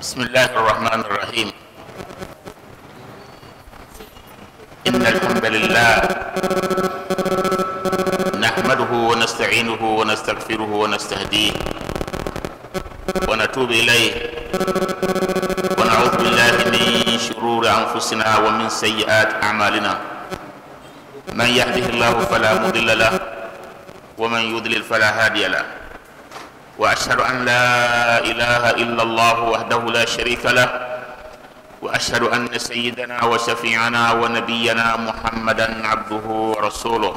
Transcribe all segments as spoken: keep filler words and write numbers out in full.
بسم الله الرحمن الرحيم. إن الحمد لله نحمده ونستعينه ونستغفره ونستهديه ونتوب إليه، ونعوذ بالله من شرور أنفسنا ومن سيئات أعمالنا. من يهده الله فلا مضل له ومن يضلل فلا هادي له، وأشهد أن لا إله إلا الله وحده لا شريك له، وأشهد أن سيدنا وشفيعنا ونبينا محمدا عبده ورسوله،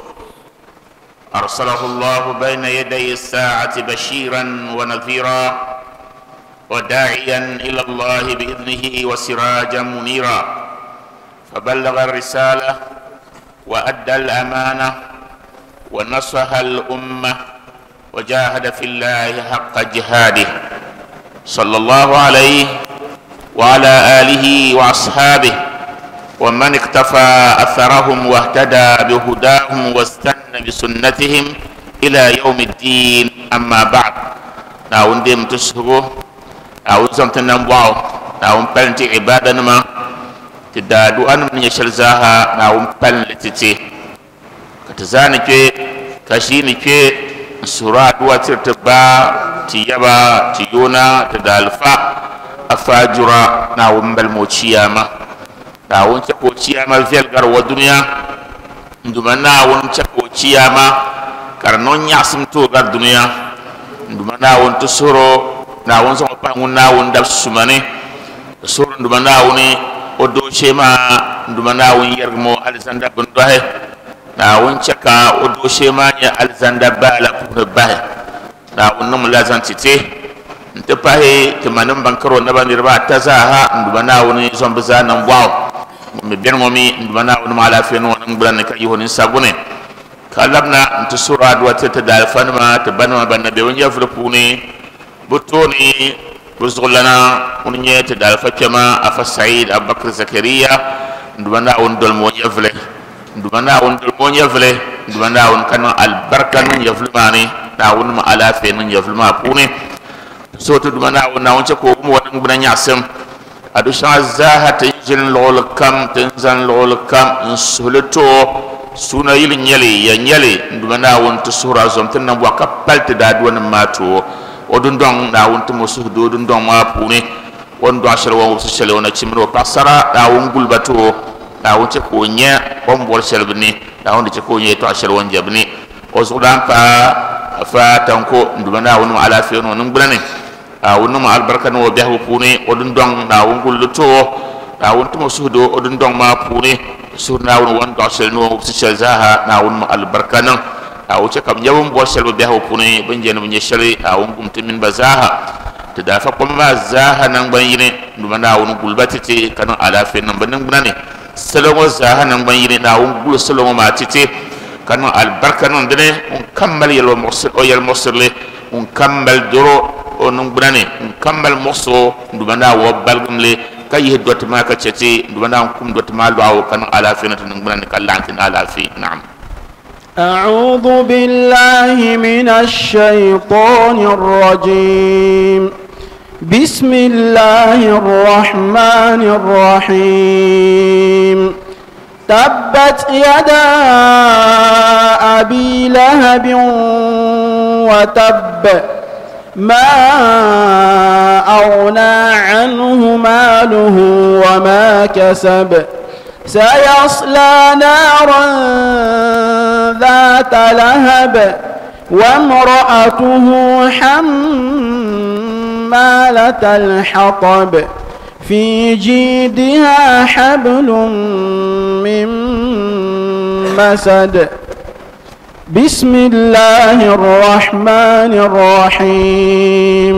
أرسله الله بين يدي الساعة بشيرا ونذيرا وداعيا إلى الله بإذنه وسراجا منيرا، فبلغ الرسالة وأدى الأمانة ونصح الأمة وجاهد في الله حق جهاده، صلى الله عليه وعلى آله وأصحابه ومن اقتفى أثرهم واهتدى بهداهم واستنى بسنتهم إلى يوم الدين. أما بعد، ناون ديم تسهبو ناون زمتنا نبواو ناون بلنتي عبادة نما تدادو أن من يشلزاها ناون بلنتي كتزاني كي كشيني كي سورة دواتر تبا تيابا تيونا تدالفا أفاجرا ناون بالموشياما ناون تكوشياما فيلغر ودنيا nduma naawun chako chiyama karnon yasim to gar dunya nduma naawun to soro naawun so pa ngun naawun dab sumane soro nduma naawuni o do shema nduma naawun yergmo alexander bun dohe naawun chaka o do shema nya alexander bala ku bahe naawun num lazan tite nte pahe te manum bankaro na banirba tazaha nduma naawuni zombaza nan waw mi ben ngomi nduma naawun ma ala fe non ngbulan ka yihon sagune kalabna nte sura do tete dal fanma te banma banna be wonja furpuni butoni buzgulana unye te dal fakema afa Said Abubakar Zakaria nduma naawun dol mo yafle nduma naawun dol mo yafle nduma naawun kan al barka nun yaflmani naawun ma ala fe nun yaflma puni so to duma naawun naawun ce ko mo won ngbulan yasem adu shazaha tinjin lol kam tinzan lol kam nsulto suna yil nyeli ya nyeli nduma naawun to sura zom tan wa kapal te da duwan mato odun don naawun to musu do dun don ma puni won do ashar won su shele wona chimro pasara naawun gulbato naawun ce ko nya on bor shelbni naawun ce ko nya to ashar won jabni o zudan fa fa tanko nduma naawun ala fi no ngbulane awun ma albarka no bihu puni odun don naawun gulluto naawun to musu do odun don ma puni sur naawun won do shel no su shel zaha naawun ma albarka nan awu ce kam yawun bo shel bihu puni ban jen mun shel awun gumti min bazaha te da fa kuma zaha nan ban yine nduma naawun gulbati te kan ala fe nan ban nan ne salomo zaha nan ban yine naawun gul salomo ma tite kan albarka nan dene on kammal yel mursal o yel mursal on kammal doro on ngbunane on kammal morso nduma na wo balgumle kay dot ma ka ceti nduma na kum dot ma laaw kan ala fi na ngbunane kallantin ala fi. Na'am. أعوذ بالله من الشيطان الرجيم. بسم الله الرحمن الرحيم. تبت يدا أبي لهب وتب، ما أغنى عنه ماله وما كسب، سيصلى نارا ذات لهب وامرأته حمالة الحطب في جيدها حبل من مسد. بسم الله الرحمن الرحيم.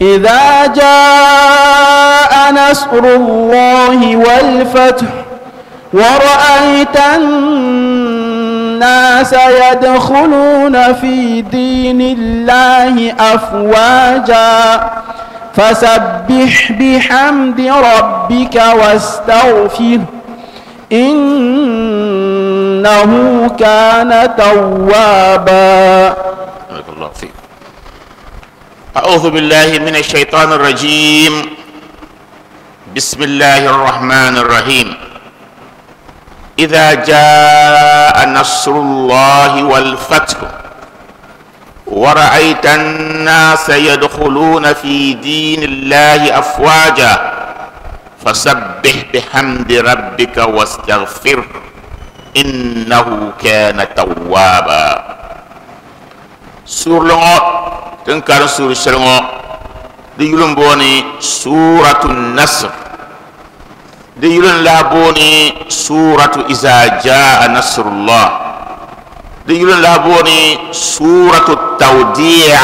إذا جاء نصر الله والفتح ورأيت الناس يدخلون في دين الله أفواجا فسبح بحمد ربك واستغفره إنه كان توابا. بارك الله فيك. أعوذ بالله من الشيطان الرجيم. بسم الله الرحمن الرحيم إذا جاء نصر الله والفتح ورأيت الناس يدخلون في دين الله أفواجا فسبح بحمد ربك واستغفره إنه كان توابا. سورة لغو تنكر سورة شلغو دي يلون بوني سورة النصر دي يلون لابوني سورة إذا جاء نصر الله دي يلون لابوني سورة التوديع.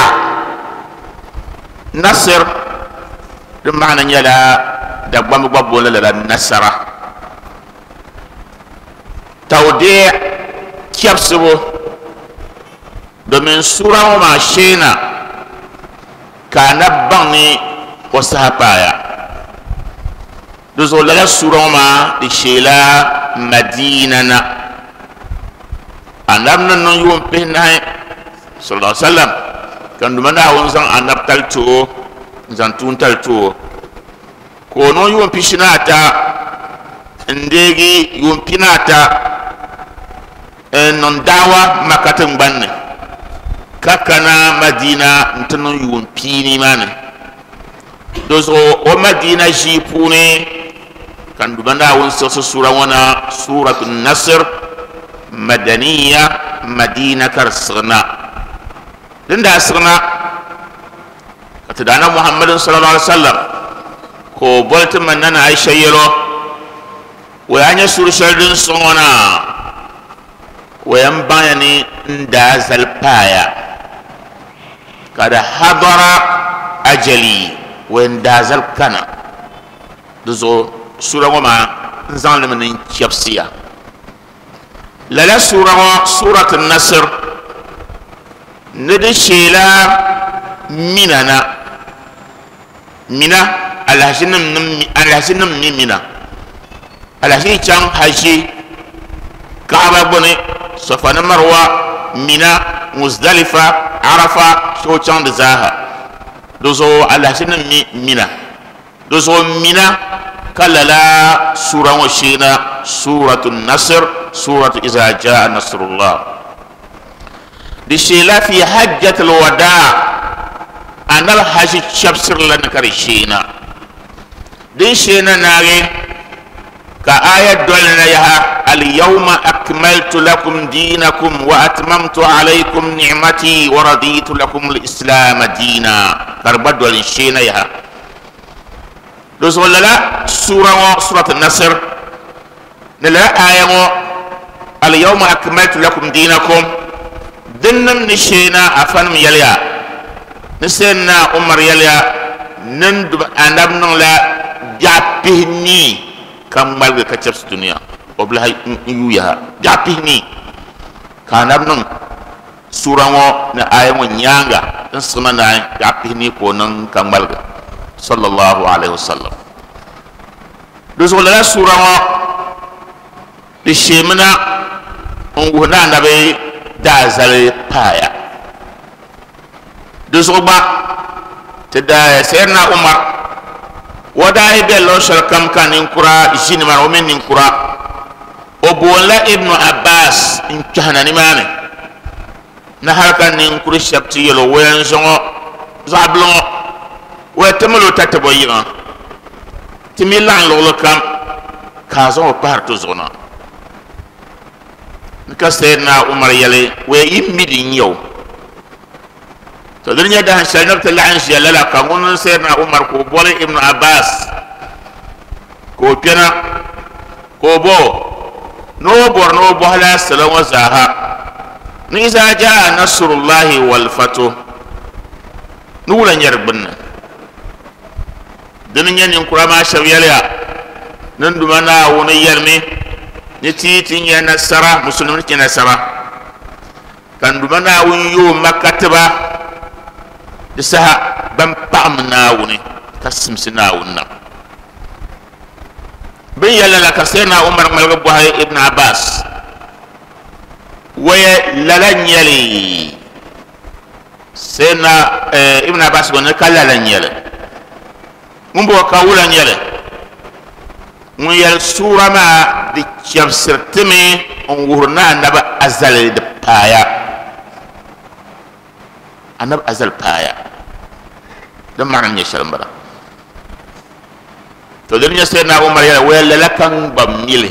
نصر بمعنى يلا دبام بابولا لا نصر توديع كيبسبو domin sura ŋɔ maa sheena ka anabi baŋ ni o saha paaya di zuɣu lala sura ŋɔ maa di sheela Madina na anabi ni niŋ yuun pihinahi sallallahu alaihi wasallam ka n Duuma Naawuni zaŋ anabi tali ti o n zaŋ tuuntali ti o ka o niŋ yuun pishi ni ata n deegi yuun pini ata n niŋ daawa Maka tiŋgbani ni ka kana Madina n ti niŋ yuun piini maa ni di zuɣu o Madina ʒii puuni ka n Duuma Naawuni siɣisi suura ŋɔ na Suuratu Nasr Madaniya Madina ka di siɣina din daa siɣina ka ti daana Muhammadin sallallahu alaihi wasallam ka o boli ti ma Nana Aisha yɛlo o yaa nyɛ suuri shɛli din siɣi ŋɔ na o yɛn baŋya ni n daa zali paaya ka di hadara ajali o yɛn daa zali kana di zuɣu suura ŋɔ maa n zaŋ limi ni n chɛbisiya lala suura ŋɔ Suuratu Nasr ni di sheela Mina na Mina alahachi nim mi Mina alahachi chaŋ haji Kaaba gbuni Safa ni Marwa Mina Muzdalifa Arafa so chaŋ di zaaha di zuɣu alahachi nim mi Mina di zuɣu Mina ka lala suura ŋɔ sheena Suuratu Nasr Suuratu Iza Jaa Nasrullah di sheela fi hajjatil wadaa anabi haji chɛbisiri la ni ka di sheena din sheena naagi ka aya doli na yaha al-yawma akmaltu lakum dinakum wa atmamtu alaykum ni'mati wa raditu lakum al-islam dina ka di gba doli sheena yaha di zuɣu lala suura ŋɔ Suuratu Nasr ni lala aya ŋɔ al-yawma akmaltu lakum dinakum din nim ni sheena afanim yɛliya ni Sayyidina Umar yɛliya ni anabi niŋla biɛɣu pihinii ka ŋmaligi ka chɛbisi dunia o bi lahi n yuuya ha biɛɣu pihinii ka anabi niŋ suura ŋɔ ni aya ŋɔ nyaanga din siɣina naai biɛɣu pihinii ka o niŋ ka ŋmaligi sallallahu alaihi wasallam di zuɣu lala suura ŋɔ di sheemina n wuhi ni anabi daa zali paaya di zuɣu gba ti daa Sayyidina Umar o daa yi bɛ luɣu shɛli kam ka ninkura ʒi nimaani o mini ninkura o boonila Ibnu Abbas n kpɛhina nimaani ni hali ka ninkuri shɛba ti yɛli o o yɛn zaŋɔ zaɣ bili ŋɔ o yɛn ti mali o tatabo yiŋa ti mi laɣim luɣuli kam ka a zaŋ o pahari ti zuɣu na ni ka Sayyidina Umar yɛli o yɛn yi mi di n-nyɛ o to din nyɛ dahin shɛli ni bi ti laɣim ʒiya lala ka ŋun Sayyidina Umar ka o boli Ibnu Abbas ka o kpɛna ka o bo ni o bɔri ni o bɔhi la salo ŋɔ zaaha ni iza jaa nasrullahi wal fatu ni wula nyɛ di gbunni dini nyɛ ninkura maa shɛba yɛliya ni n Duuma Naawuni yɛlimi ni ti ti nyɛ nasara musulimi ti nyɛ nasara ka n Duuma Naawuni yooi Maka tiba di saha ban paɣami Naawuni ka simsi Naawuni na bin yɛli la ka Sayyidina Umar ŋmaligi bɔhi Ibn Abbas waya lala nyɛli Sayyidina Ibn Abbas gɔ ni ka lala nyɛli ŋun bɔ ka wula nyɛli Ŋun yɛli suura maa di chɛbisiri timi n wuhiri ni anabi azali di paaya anabi azali paaya di maana nyɛ shɛli n bala to di nyɛ Sayyidina Umar yɛli waya lala ka n gba mili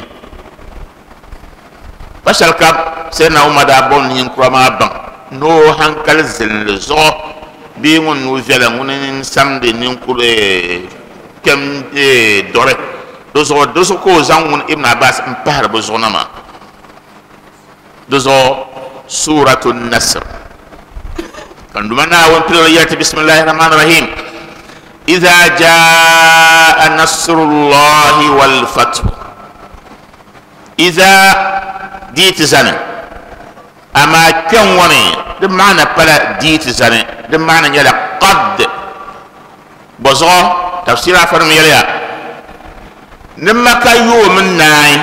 pa shɛli kam Sayyidina Umar daa bɔm ninkura maa baŋ ni o hankali zilinli zuɣu bee ŋun nuu viɛla ŋuni n samdi ninkuri kpɛm dɔri di zuɣu di zuɣu ka o zaŋ ŋun Ibn Abbas n pahari bi zuɣu na maa di zuɣu Suratu Nasr kan duma Naawuni piligi yɛli ti bisimilahi rahmaani rahim idha jaa nasrullahi wal fathu idha dii ti zani amaa kpɛŋ ŋɔ ni di maana pala dii ti zani di maana nyɛla qad bɔ zuɣu tafsir afanim yɛliya ni Maka yoomi naai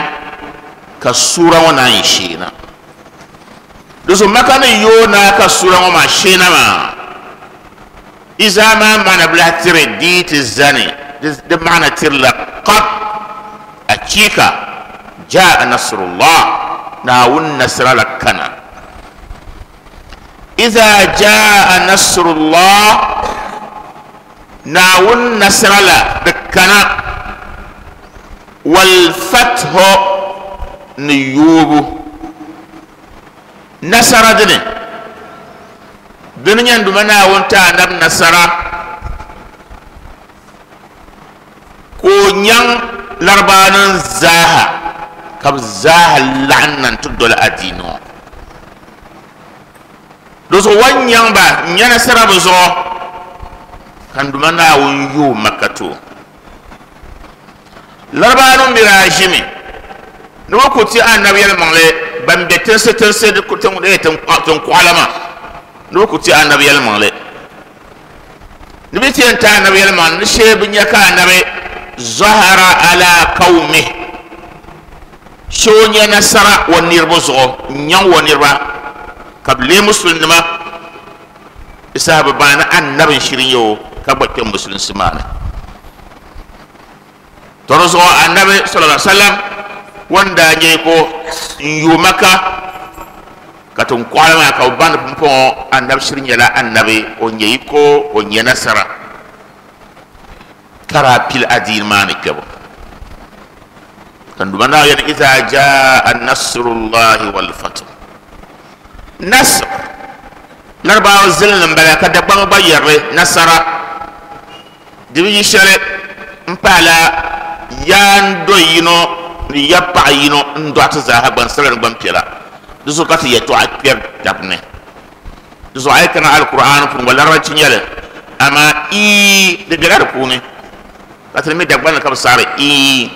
ka suura ŋɔ naan yi sheena di zuɣu Maka ni yoo naa ka suura ŋɔ maa sheena maa iza maa maana bi lahi tiri dii ti zani di maana tirila qad achika jaa nasrullah Naawuni nasra la kana iza jaa nasrullah Naawuni nasra la di kana wal fathu ni yoobu nasara dini dini nyɛ duma Naawuni ti anabi nasara ka o nyaŋ laribaanim zaaha ka bi zaaha laɣim na n-ti doli adiini ŋɔ di zuɣu wan nyaŋ ba n nya nasara bi zuɣu ka duma Naawuni yooi Maka ti o laribaanim mi daa ʒimi ni bi ku ti anabi yɛlimaŋli ban be tinsi tinsi tiŋkuɣala maa ni bi ku ti anabi yɛlimaŋli ni bi ti yɛn ti anabi yɛlimaŋli ni shee bi nya ka anabi zahara ala qawmi shee o nya nasara o niriba zuɣu n nyaŋ o niriba ka bi lee musulinima di saha bi baŋ ni anabi n shiri nyɛ o ka gba kpɛ musulinsi maa ni to di zuɣu anabi sallallahu alaihi wasallam wanda nyɛ ko n yooi Maka ka tiŋkuɣali maa ka bi baŋ ni pumpɔŋɔ anabi shiri nyɛla anabi o nyɛ yiko o nyɛ nasara ka daa pili adiini maa ni kpɛbu kan duma naa yɛli idha jaa nasrullahi wal fathu nasr laribaawa zilinli n bala ka Dagbaŋ gba yɛrili nasara di bi yi shɛli n paala yaan do yino ni ya paɣa yino n dɔɣi ti zaaha gbansabila ni gbanpiɛla di zuɣu ka ti yɛltɔɣa kpɛri tabi ni di zuɣu a yi kana Alkur'an puuni gba larabanchi nyɛli amaa ii di bela di puuni ka ti mi Dagbaŋ ni ka bi saɣari ii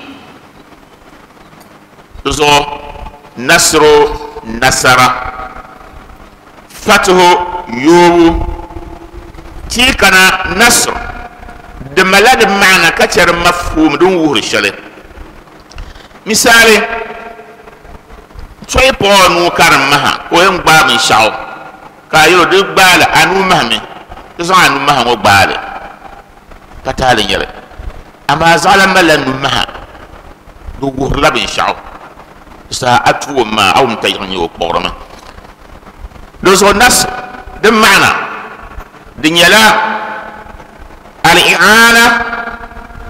di zuɣu nasru nasara fathu yoobu ti kana nasr di mala di maana ka chɛ di mafhum din wuhiri shɛli misali tɔyi paɣa nuu ka di maha ka o yɛn gbaai binshaɣu ka a yɛli o di gbaali a nuu mahami di zaŋ a nuu maha ŋɔ gbaali pa taali nyɛli amaa zaɣala malila nuu maha di wuhirila binshaɣu saha a tuo maa a wum ta yiɣi nyɛ o kpuɣirimi di zuɣu nas di maana di nyɛla al-i'ana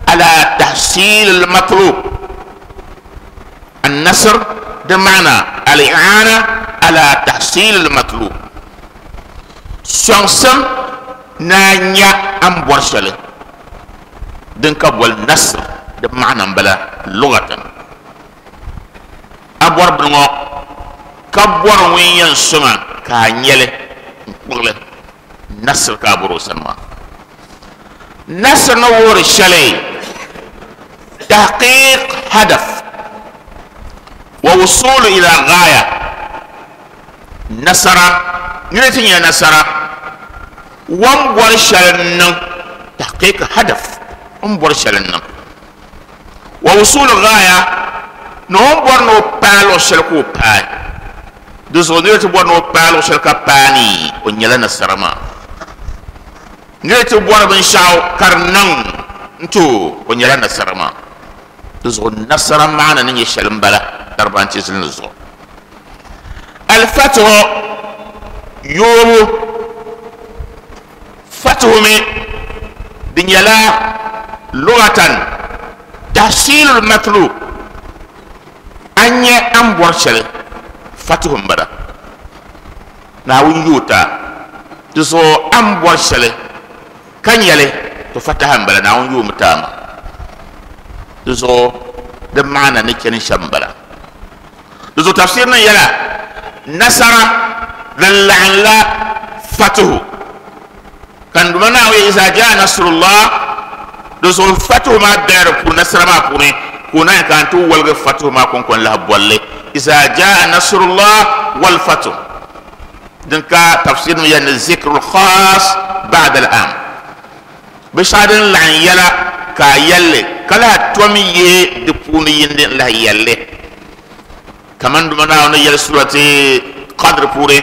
ala tahsil al-matlub an-nasr di maana al-i'ana ala tahsil al-matlub sɔŋsim na nya an bɔri shɛli din ka boli nasr di maana n bala lugatan a bɔri bini ŋɔ ka bɔri ŋun yɛn sɔŋa ka a nyɛli n kpuɣili nasr ka a bɔri o sani maa nasr ni wuhiri shɛli tahqiq hadaf wa wusulu ila ghaya nasara nira ti nyɛ nasara wan bɔri shɛli n niŋ tahqiq hadaf n bɔri shɛli n niŋ wa wusulu ghaya ni o bɔri ni o paai luɣu shɛli ka o paai di zuɣu nira ti bɔri ni o paai luɣu shɛli ka paai ni o nyɛla nasara maa nira ti bɔri binshaɣu ka di niŋ n ti o o nyɛla nasara maa Di zuɣu nasara maana ni nyɛ shɛli n bala Larabanchi zilinli zuɣu. Al-Fatihu yoobu fatihu mi di nyɛla lugatan tahsilul matlub, an nyɛ an bɔri shɛli fatihu n bala. Naawuni yoota di zuɣu an bɔri shɛli ka nyɛli to fataha n bala, Naawuni yoomi taama. Di zuɣu di maana ni chani shɛm n bala. Di zuɣu tafsir nim yɛla nasara din laɣim la fatihu kan duma Naawuni iza jaa nasrullah. Di zuɣu fatihu maa bela di puuni, nasara maa puuni ka o naan ka n ti woligi fatihu maa kɔŋko n lahi bolli iza jaa nasrullah wal fatuh. Din ka tafsir nim yɛli ni zikrul khas ba'da al-am, binshɛɣu din laɣim yɛla ka a yɛlli ka lahi tom yihi di puuni yindi n lahi yɛlli kaman duma Naawuni yɛli surati Qadr puuni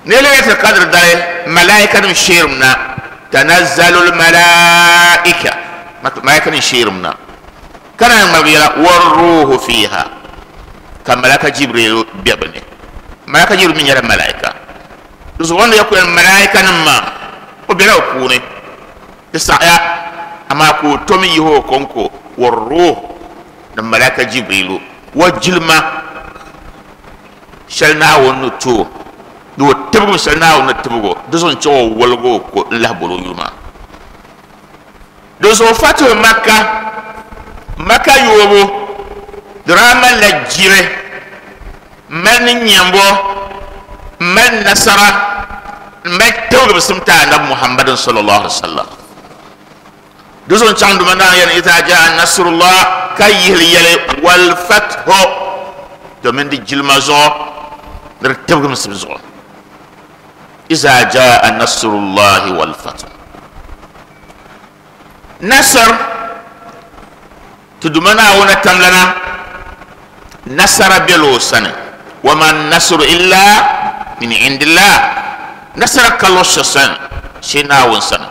ni Laylatul Qadr dali malaika nim sheerim na, tanazzalul malaika, malaika nim sheerim na kana ŋmaligi yɛla war-ruhu fiha, ka malaka Jibril be bi ni. Malaka Jibril mi nyɛla malaika, di zuɣu wanda ya ku yɛli malaika nim maa o bela o puuni di saɣaya, amaa ka o tom yihi o kɔŋko war-ruh ni malaka Jibrilu wa jilima shɛli Naawuni ni ti o ni o tibigim shɛli Naawuni ni tibigi o, di zuɣu n chɛ o woligi o ko n lahi boli o yuli maa. Di zuɣu fatihu Makka, Makka yoobu di daa malila jiri, mali ni nyɛmbo, mali nasara, mali tibigimsim ti anabi Muhammadin sallallahu alaihi wasallam. Di zuɣu n chaŋ duma Naawuni yɛli iza jaa nasrullah ka yihili yɛli wal fathu, domin di jilima zuɣu ni di tibigimsim zuɣu. Iza jaa nasrullahi wal fathu. Nasr ti duma Naawuni tamlana nasara bela o sani, wa ma nasru illa min indillah. Nasara ka luɣu shɛli sani shee Naawuni sani.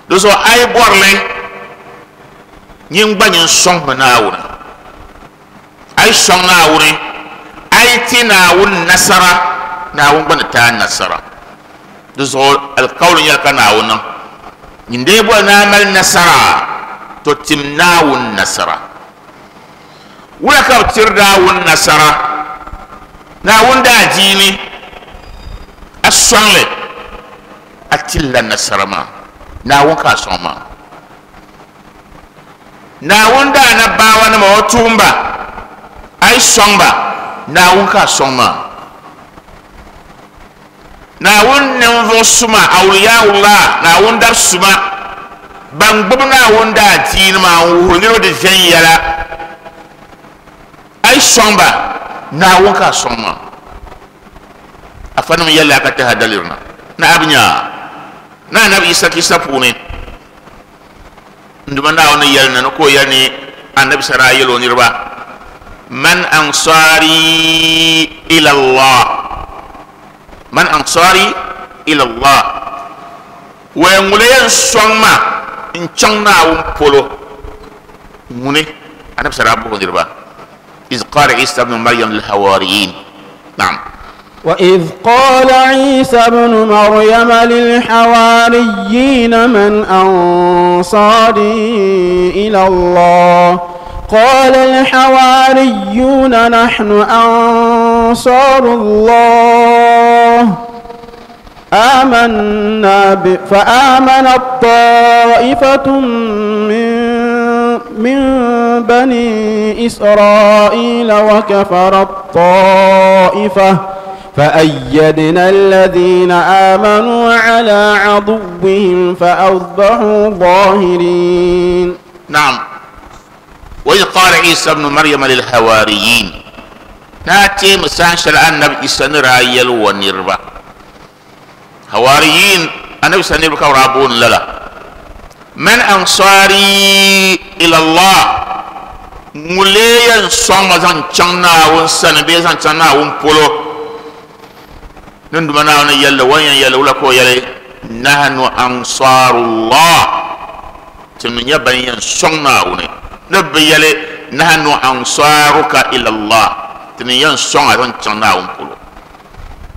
Di zuɣu a yi bɔrili nyin gba nyin sɔŋmi Naawuni, a yi sɔŋ Naawuni, a yi ti Naawuni nasara, Naawuni gba ni ti a nasara. Di zuɣu alikauli nyɛla ka Naawuni niŋ nyin dee bɔri ni a mali nasara, to tim Naawuni nasara. Wula ka bi tiri Naawuni nasara? Naawuni daa diini a sɔŋli a tilla nasara maa, Naawuni ka a sɔŋ maa. Naawuni daa na baawanima o tuumba a yi sɔŋ ba, Naawuni ka a sɔŋ maa. Naawuni ninvuɣu suma awliyaullah, Naawuni dab suma ban gbubi Naawuni daa diini maa n wuhiri niriba di viɛnyɛla, a yi sɔŋ ba, Naawuni ka a sɔŋ maa. Afanim yɛlli a ka taha daliri na na a bi nya na anabi Isa kisa puuni n duma Naawuni yɛli na ni ka o yɛli ni anabi Isa daa yɛli o niriba man ansari ila Allah, man ansari ila Allah, wa ŋuni yɛn sɔŋ ma n chaŋ Naawuni polo ŋuni anabi Isa daa buhi o niriba iz qala Isa ibn Maryam lil hawariyin. Naam. وإذ قال عيسى ابن مريم للحواريين من أنصاري إلى الله قال الحواريون نحن أنصار الله آمنا ب... فآمنت طائفة من من بني إسرائيل وكفرت طائفة فأيدنا الذين آمنوا على عدوهم فأصبحوا ظاهرين. نعم. وإذ قال عيسى ابن مريم للحواريين ناتي مسانشل النبي عيسى نرايل ونربا حواريين النبي سنربا ورابون للا من أنصاري إلى الله موليا صمزان چنا ونسن بيزان چنا ونبولو نندمنا ونيلا وين يلا ولا كو يلا نحن أنصار الله Ti ni nyɛ ban yɛn sɔŋ Naawuni ni bi yɛli nahnu ansaruka ila Allah, ti ni yɛn sɔŋ a zaŋ chaŋ Naawuni polo.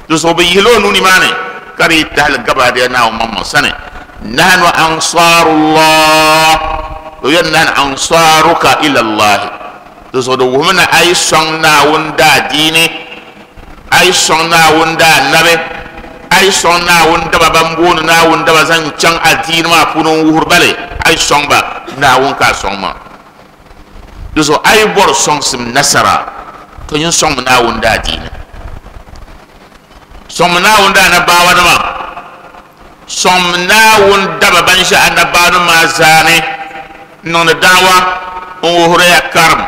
Di zuɣu bi yihila o nuu nimaani ka di yi tahali gabaadaya Naawuni maŋmaŋ sani nahnu ansarullah, o yɛn nahnu ansaruka ila Allah. Di zuɣu di wuhimi ni a yi sɔŋ Naawuni daadiini, a yi sɔŋ Naawuni daannabi, a yi sɔŋ Naawuni daba ban booni Naawuni daba zaŋ chaŋ adiini maa puuni n wuhiri ba li, a yi sɔŋ ba Naawuni ka a sɔŋ maa. Di zuɣu a yi bɔri sɔŋsim nasara to nyin sɔŋmi Naawuni daadiini, sɔŋmi Naawuni daanabaawanima, sɔŋmi Naawuni daba ban ʒe anabaawanima maa zaani n niŋdi daawa n wuhiriya karim,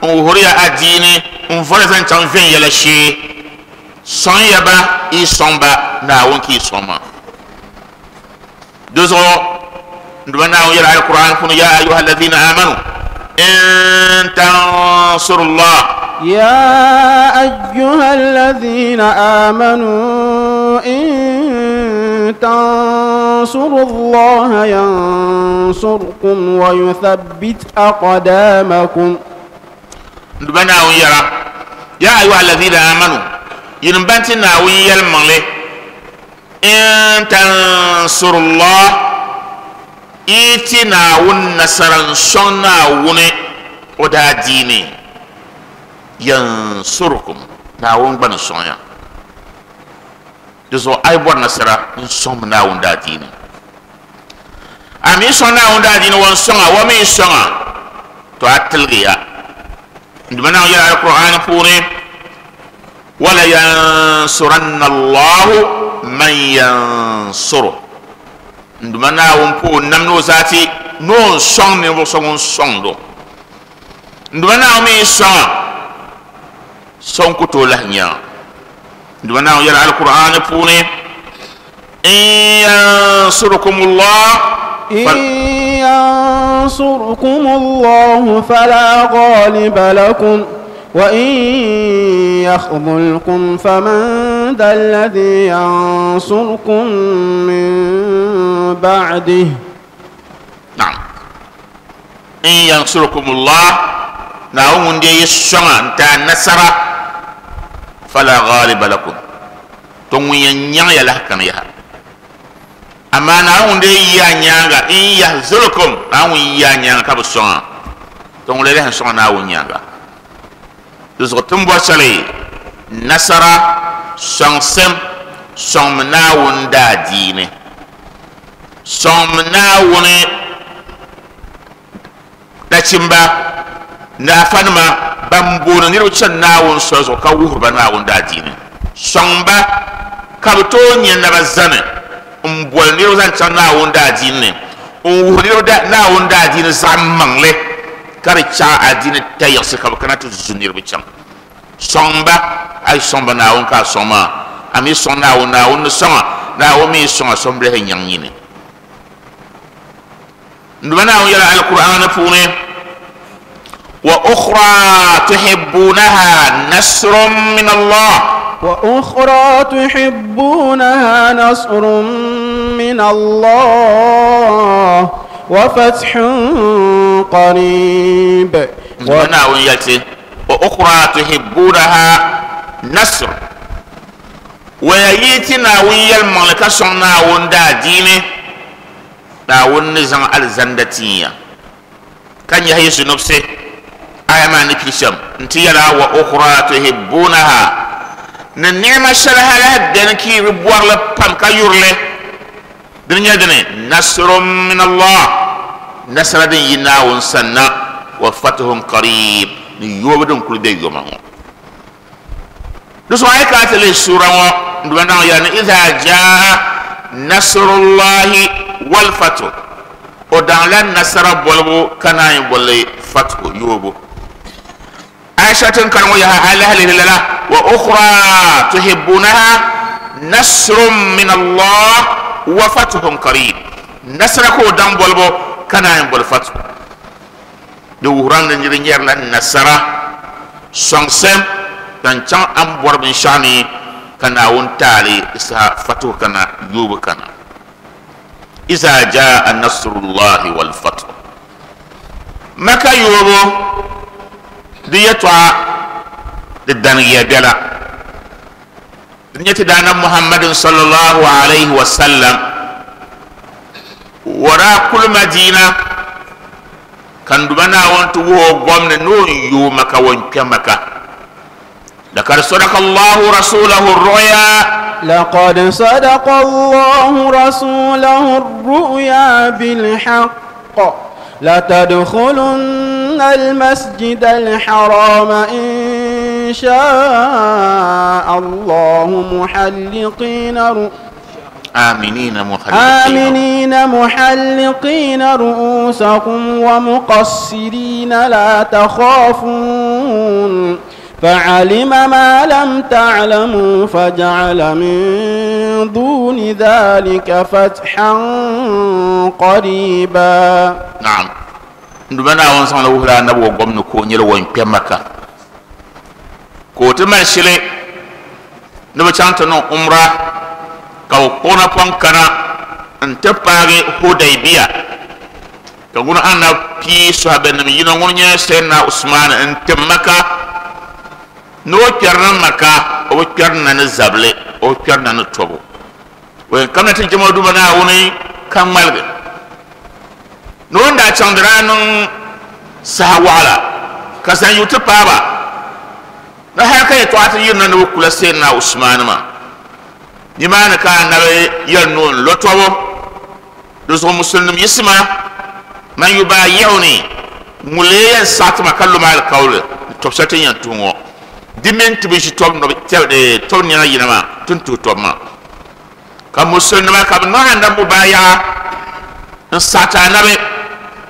n wuhiriya adiini, n vɔri zaŋ chaŋ viɛnyɛla shee. Sɔŋ ya ba, yi sɔŋ ba Naawuni ka yi sɔŋ maa. Di zuɣu n Duuma Naawuni yɛli Alkur'an puuni ya ayuha alladhina amanu in tansurullah. Ya ayuha alladhina amanu in tansurullaha yansurkum wa yuthabbit aqdamakum. N Duuma Naawuni yɛra ya ayuha alladhina amanu yin banti Naawuni yɛlimaŋli in tansurullah, iti Naawuni nasara n sɔŋ Naawuni o daadiini, yansurkum Naawuni gba ni sɔŋ ya. Di zuɣu a yi bɔri nasara n sɔŋmi Naawuni daadiini. A mi sɔŋ Naawuni daadiini wa n sɔŋa, wa mi sɔŋa to a tiligi ya. N Duuma Naawuni yɛli Alkur'an puuni wala yansuranna Allahu man yansuru. N Duuma Naawuni po nam ni o zaati ni o n sɔŋ ninvuɣu so ŋun sɔŋdo. N Duuma Naawuni mi sɔŋa sɔŋ ku tooi lahi nya. N Duuma Naawuni yɛli Alkur'an puuni in yansurukumullah in yansurkumullahu fala ghaliba lakum wa in yakhdhulkum faman dha alladhi yansurkum min ba'dihi. Naam, in yansurkumullah, Naawuni ŋun dee yi sɔŋa n ti a nasara fala ghaliba lakum, to ŋun yɛn nyaŋ ya lahi kani yaha. Amaa Naawuni ŋun dee yi a nyaanga in yahzulkum, Naawuni ŋun yi a nyaanga ka bi sɔŋa, to ŋun lee lahi sɔŋa Naawuni nyaanga. Di zuɣu ti ni bɔri shɛli nasara sɔŋsim, sɔŋmi Naawuni daadiini, sɔŋmi Naawuni nachimba ni afanima ban booni niriba chani Naawuni soli zuɣu ka wuhiri ba Naawuni daadiini, sɔŋ ba ka bi tooi nyɛ naba zani n boli niriba zaŋ chaŋ Naawuni daadiini ni, n wuhiri niriba Naawuni daadiini zaɣ maŋli ka di chaɣ adiini tayiɣisi ka bi kana ti zu niriba chaŋ. Sɔŋ ba, a yi sɔŋ ba Naawuni ka a sɔŋ maa, a mi sɔŋ Naawuni, Naawuni ni sɔŋa, Naawuni mi sɔŋa sɔŋ bilahi nyaŋ nyini. N Duuma Naawuni yɛla Alkur'an puuni wa ukhra tuhibbunaha nasrun min Allah. Wa ukhra tuhibbunaha nasrun min Allah wa fathun qarib. N Duuma Naawuni yɛli wa ukhra tuhibbunaha nasr, wa yi ti Naawuni yɛlimaŋli ka sɔŋ Naawuni daadiini, Naawuni ni zaŋ alizanda tin ya ka nyahi yi zunubsi. Aya maa ni pili shɛm n ti yɛla wa ukhra tuhibbunaha, ni ni'ma shɛli ha lahi beni ka yi bi bɔrili pam ka yurili, dini nyɛ dini nasrun min Allah, nasara din yi Naawuni sanna, wa fathun qarib, ni yoobu din kuli be yoma ŋɔ. Di zuɣu a yi kana ti lihi suura ŋɔ, n Duuma Naawuni yɛla ni idha jaa nasrullahi wal fathu, o daŋla nasara bolibu ka naan yi boli fathu yoobu. Aisha tin kari ŋɔ yaha a lahi lihi lala wa ukhra tuhibbunaha nasrun min Allah wa fathun qarib, nasara ka o daŋ bolibu ka naan yi boli fathu. Di wuhiram ni niri nyɛrila nasara sɔŋsim zaŋ chaŋ a ni bɔri binshɛɣu ni ka Naawuni taali di saha fathu kana yoobu kana. Iza jaa nasrullahi wal fathu. Maka yoobu di yɛltɔɣa di danigiya biɛla di nyɛ ti daana Muhammadin sallallahu alayhi wa sallam wara kuli Madina kan duba Naawuni ti wuhi o gomni ni o yooi Maka o kpɛ Maka. لقد صدق الله رسوله الرؤيا لقد صدق الله رسوله الرؤيا بالحق لتدخلن المسجد الحرام إن شاء الله محلقين رؤ آمنين محلقين آمنين محلقين رؤوسكم ومقصرين لا تخافون فعلم ما لم تعلموا فجعل من دون ذلك فتحا قريبا. نعم nduma Naawuni saŋla wuhila anabi o gom ni ka o nyɛla ŋun kpɛ Maka ka o ti mali shili ni bi chaŋ ti niŋ umra ka o kpuɣi napɔŋ kana n ti paagi Hudaybiya ka ŋuni anabi pii sɔhibinim yino ŋuni nyɛ Sayyidina Usman n tim Maka ni o kpɛrina Maka o bi kpɛrina ni zabili o bi kpɛrina ni tɔbu o yɛn kamina ti jɛma o Duuma Naawuni ka ŋmaligi ni o ni daa chaŋ di daa niŋ saha waɣala ka zaŋ yu ti paaba ni hali ka yɛltɔɣa ti yirina ni bi kula Sayyidina Usman maa nimaani ka anabi yɛli ni o n lo tɔbu di zuɣu musulnim yiɣisima man yubayi'uni ŋun lee yɛn saɣati ma ka lo ma alikauli ni tɔbu shɛli ti ni yɛn tuhi ŋɔ di mini ti bi ʒi tɔbu nɛma yina maa ti ni tuhi tɔbu maa ka musulnima ka bi niŋ anabi mubayaɣa n saɣati anabi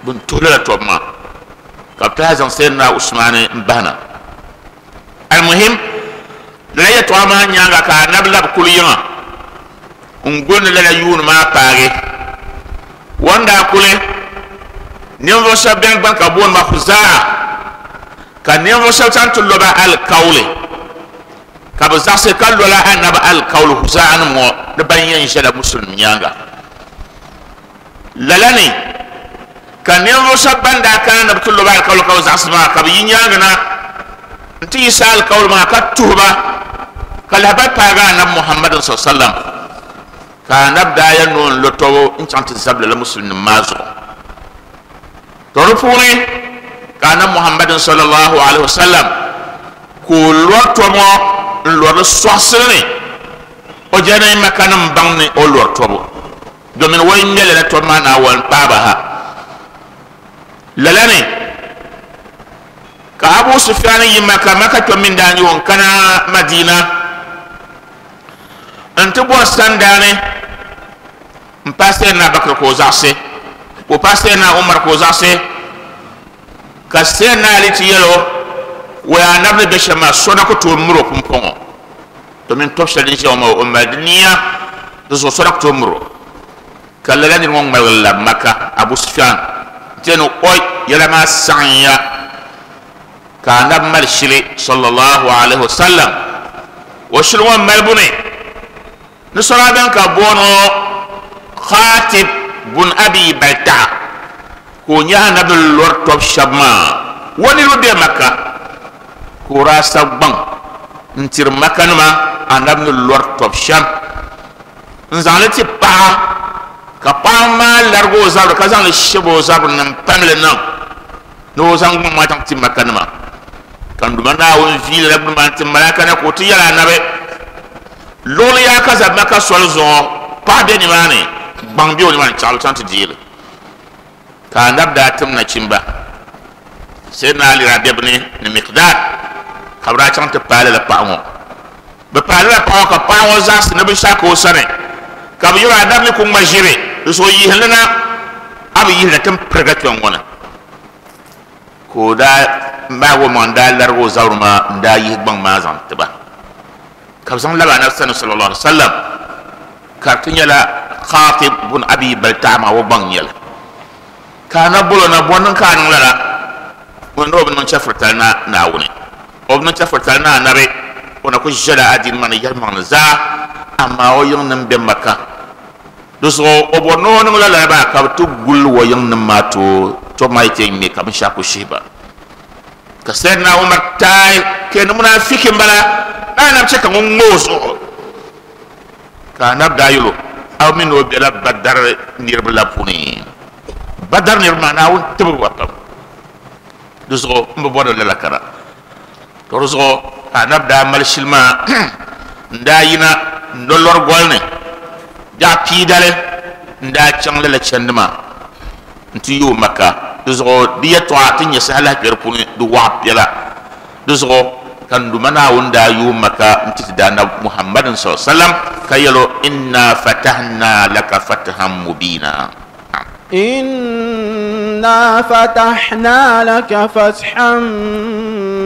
bin tuhi lala tɔbu maa ka bi tahi zaŋ Sayyidina Usman n bahina. Almuhim lala yɛltɔɣa maa nyaanga ka anabi labi kuli yiŋa n guli ni lala yuuni maa paagi o ni daa kuli ninvuɣu shɛba bɛni gban ka booni ba Khuzaa ka ninvuɣu shɛba chaŋ ti loba alikauli ka bi zaɣisi ka lola anabi alikauli Khuzaa nim ŋɔ ni ban yɛn ʒɛla musulimi nyaanga lala ni ka ninvuɣu shɛba ban daa kana ni bi ti loba alikauli ka bi zaɣisi maa ka bi yi nyaanga na n ti yiɣisi alikauli maa ka tuhi ba ka lahabali paagi anabi Muhammadin sallallahu alaihi wa sallam ka anabi daa yɛn ni o n lo tɔbu n chaŋ ti zabi lala musulimi maa zuɣu to di puuni ka anabi Muhammadin sallallahu alaihi wa sallam ka o lɔri tɔbu ŋɔ n lɔri sɔɣisili ni o jɛni Maka nim baŋ ni o lɔri tɔbu domin o yi ŋmɛ lala tɔbu maa Naawuni paaba ha lala ni ka Abu Sufyan yi Maka Maka kpɛm min daa nyɛ o n kana Madina n ti bɔri sandaani n paai Sayyidina Bakr ka o zaɣisi ka o paai Sayyidina Umar ka o zaɣisi ka Sayyidina Ali ti yɛli o o yaa anabi ni bɛ shɛm maa so na ku tooi miri o pumpɔŋɔ domin tɔbu shɛli din ʒiya ŋɔ maa o mali di niya di zuɣu so na ku tooi miri o ka lala niri ŋɔ ŋmaligi labi Maka Abu Sufyan n ti yɛli ni oi yɛla maa saɣimya ka anabi mali shili sallallahu alaihi wa sallam o shili ŋɔ malibu ni ni sɔra bɛn ka booni Khatib bun Abi Balta'a ka o nyɛ anabi lɔri tɔbu shɛba maa o niriba bɛ Maka ka o daa sabi gbaŋ n tiri Maka nima anabi ni lɔri tɔbu shɛm n zaŋli ti paɣa ka paɣa maa larigi o zabiri ka zaŋli shɛbi o zabiri ni n pamli niŋ ni o zaŋ gbaŋ maa chaŋ ti Maka nima ka n Duuma Naawuni viili la bini maa n ti malaka na ka o ti yɛli anabi luɣuli yaa ka za Maka soli zuɣu paɣa bɛ nimaani gbaŋ bɛ o nimaani chaɣali chaŋ ti deeli ka anabi daa tim nachimba Sayyidina Ali daa bɛ bini ni Miqdad ka bi daa chaŋ ti paali la paɣa ŋɔ bi paali la paɣa ŋɔ ka paɣa ŋɔ zaɣisi ni binshɛɣu ka o sani ka bi yɛli anabi ni ku ŋma ʒiri di zuɣu yihili na a bi yihili ti pirigi kpɛŋ ŋɔ na ka o daa maagi o maŋ n daa larigi o zabiri maa n daa yihi gbaŋ maa zaŋ ti ba ka bi zaŋ labi anabi sani sallallahu alaihi wa sallam ka di ti nyɛla Khatib bun Abi Balta'a maa o gbaŋ nyɛli ka anabi bolo na bɔ niŋ ka a niŋ lala ŋun ni o bi niŋ chɛfuritali na Naawuni o bi niŋ chɛfuritali na anabi o na ku ʒɛla adiini maa ni yɛlimaŋli zaa amaa o yiŋ nim bɛ Maka di zuɣu o bɔri ni o niŋ lala maa ka bi ti guli o yiŋ nim maa tooi To ma yi ŋme ka binshaɣu ku shihi ba ka Sayyidina Umar taai ke ni munafiki n bala na anab chɛ ka ŋun ŋme o zuɣu ka anab daa yɛl o a mini o bela Badar niriba la puuni Badar niriba maa Naawuni tibigi ba pam di zuɣu n bi bɔri lala kara to di zuɣu ka anab daa mali shili maa n daa yina n do lɔri goli ni biɛɣu piidali n daa chaŋ lala chandi maa n ti yooi Maka di zuɣu di yɛltɔɣa ti nyɛ saha lahi kpɛ di puuni di waɣa piɛla di zuɣu ka n duma Naawuni daa yooi Maka n ti ti daa nabi Muhammadin sallallahu alaihi wasallam ka yɛl o inna fatahna laka fathan mubina. إنا فتحنا لك فتحا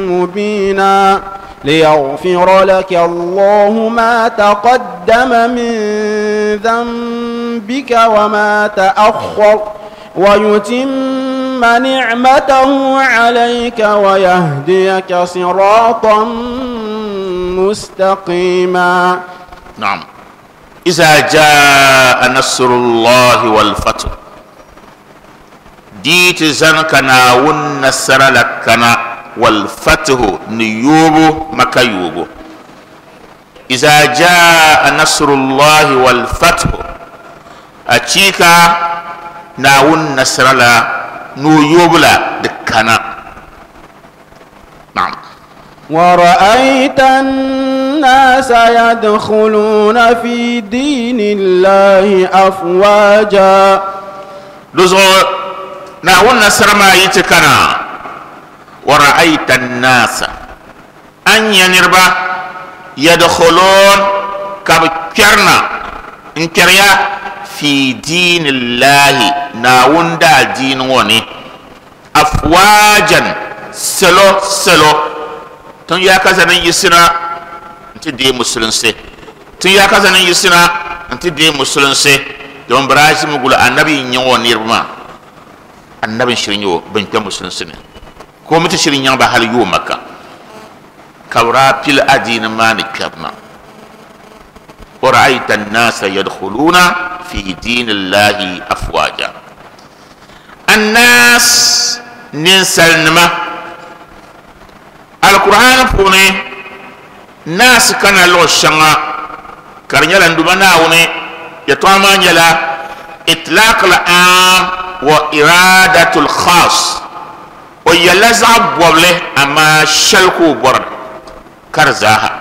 مبينا ليغفر لك الله ما تقدم من ذنبك وما تأخر ويتم نعمته عليك ويهديك صراطا مستقيما. نعم. إذا جاء نصر الله والفتح ديت زنك ناون نصر لكنا والفتح نيوبو مكيوبو. إذا جاء نصر الله والفتح أتيكا ناون نصر لا نيوبو لا دكنا. نعم. ورأيت الناس يدخلون في دين الله أفواجا. لزو ناون نصر ما يتكنا ورأيت الناس أن ينربا يدخلون كبكرنا انكريا في دين الله ناون دا دين وني أفواجا سلو سلو تن يا كذا يسنا انت دي مسلم سي تن يا كذا يسنا انت دي مسلم سي دون براجي مقول النبي نيو نيرما النبي شرينيو بنت مسلم سي ko mita shirin yan ba hal yo Makka kabra pil adina mani kabna wa ra'aita an-nasa yadkhuluna fi dinillahi afwaja. An-nas ninsalnima al-Qur'an puni nas kana lo shanga karnyala nduma naawuni ya tama nyala itlaq al-am wa iradatul khas o yɛla zaɣ bɔbili amaa shɛli ka o bɔri ka di zaaha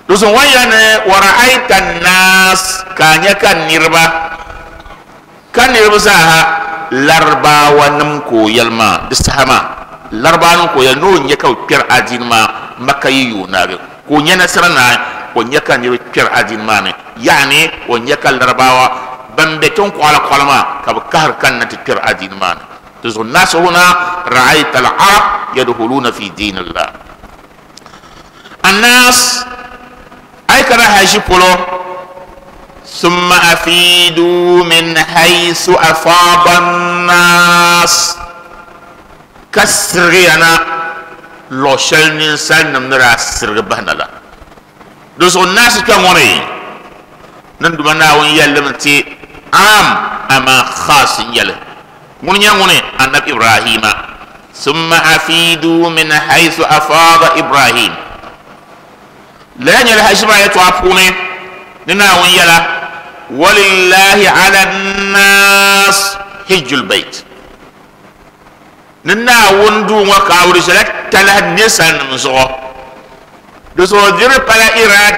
di zuɣu wan yɛli ni wa ra'ayta an-nas ka a nyɛ ka niriba ka niriba zaaha Larabawa nim ka o yɛli maa di saha maa Larabawa nim ka o yɛli ni o nyɛ ka bi kpɛri adiini maa Maka yi yooi naagi ka o nyɛ nasara naai o nyɛ ka niriba kpɛri adiini maa ni yaani o nyɛ ka Larabawa ban bɛ tiŋ kɔɣala kɔɣala maa ka bi kahari kanna ti kpɛri adiini maa ni. الناس هنا رأيت العرب يدخلون في دين الله. الناس أي كان هاجي بولو ثم أفيدوا من حيث أفاض الناس كسري أنا لو شل إنسان نمرا سرغ بهنا لا دوس الناس كموني نندمنا وين يلمتي عام أما خاص يله من يموني النبي إبراهيم ثم أفيدوا من حيث أفاض إبراهيم لا يلها شبا يتوافوني لنا ويلا ولله على الناس حج البيت ننا وندو وكاوري سلك تلا نسان مزو دسو دير بلا إراد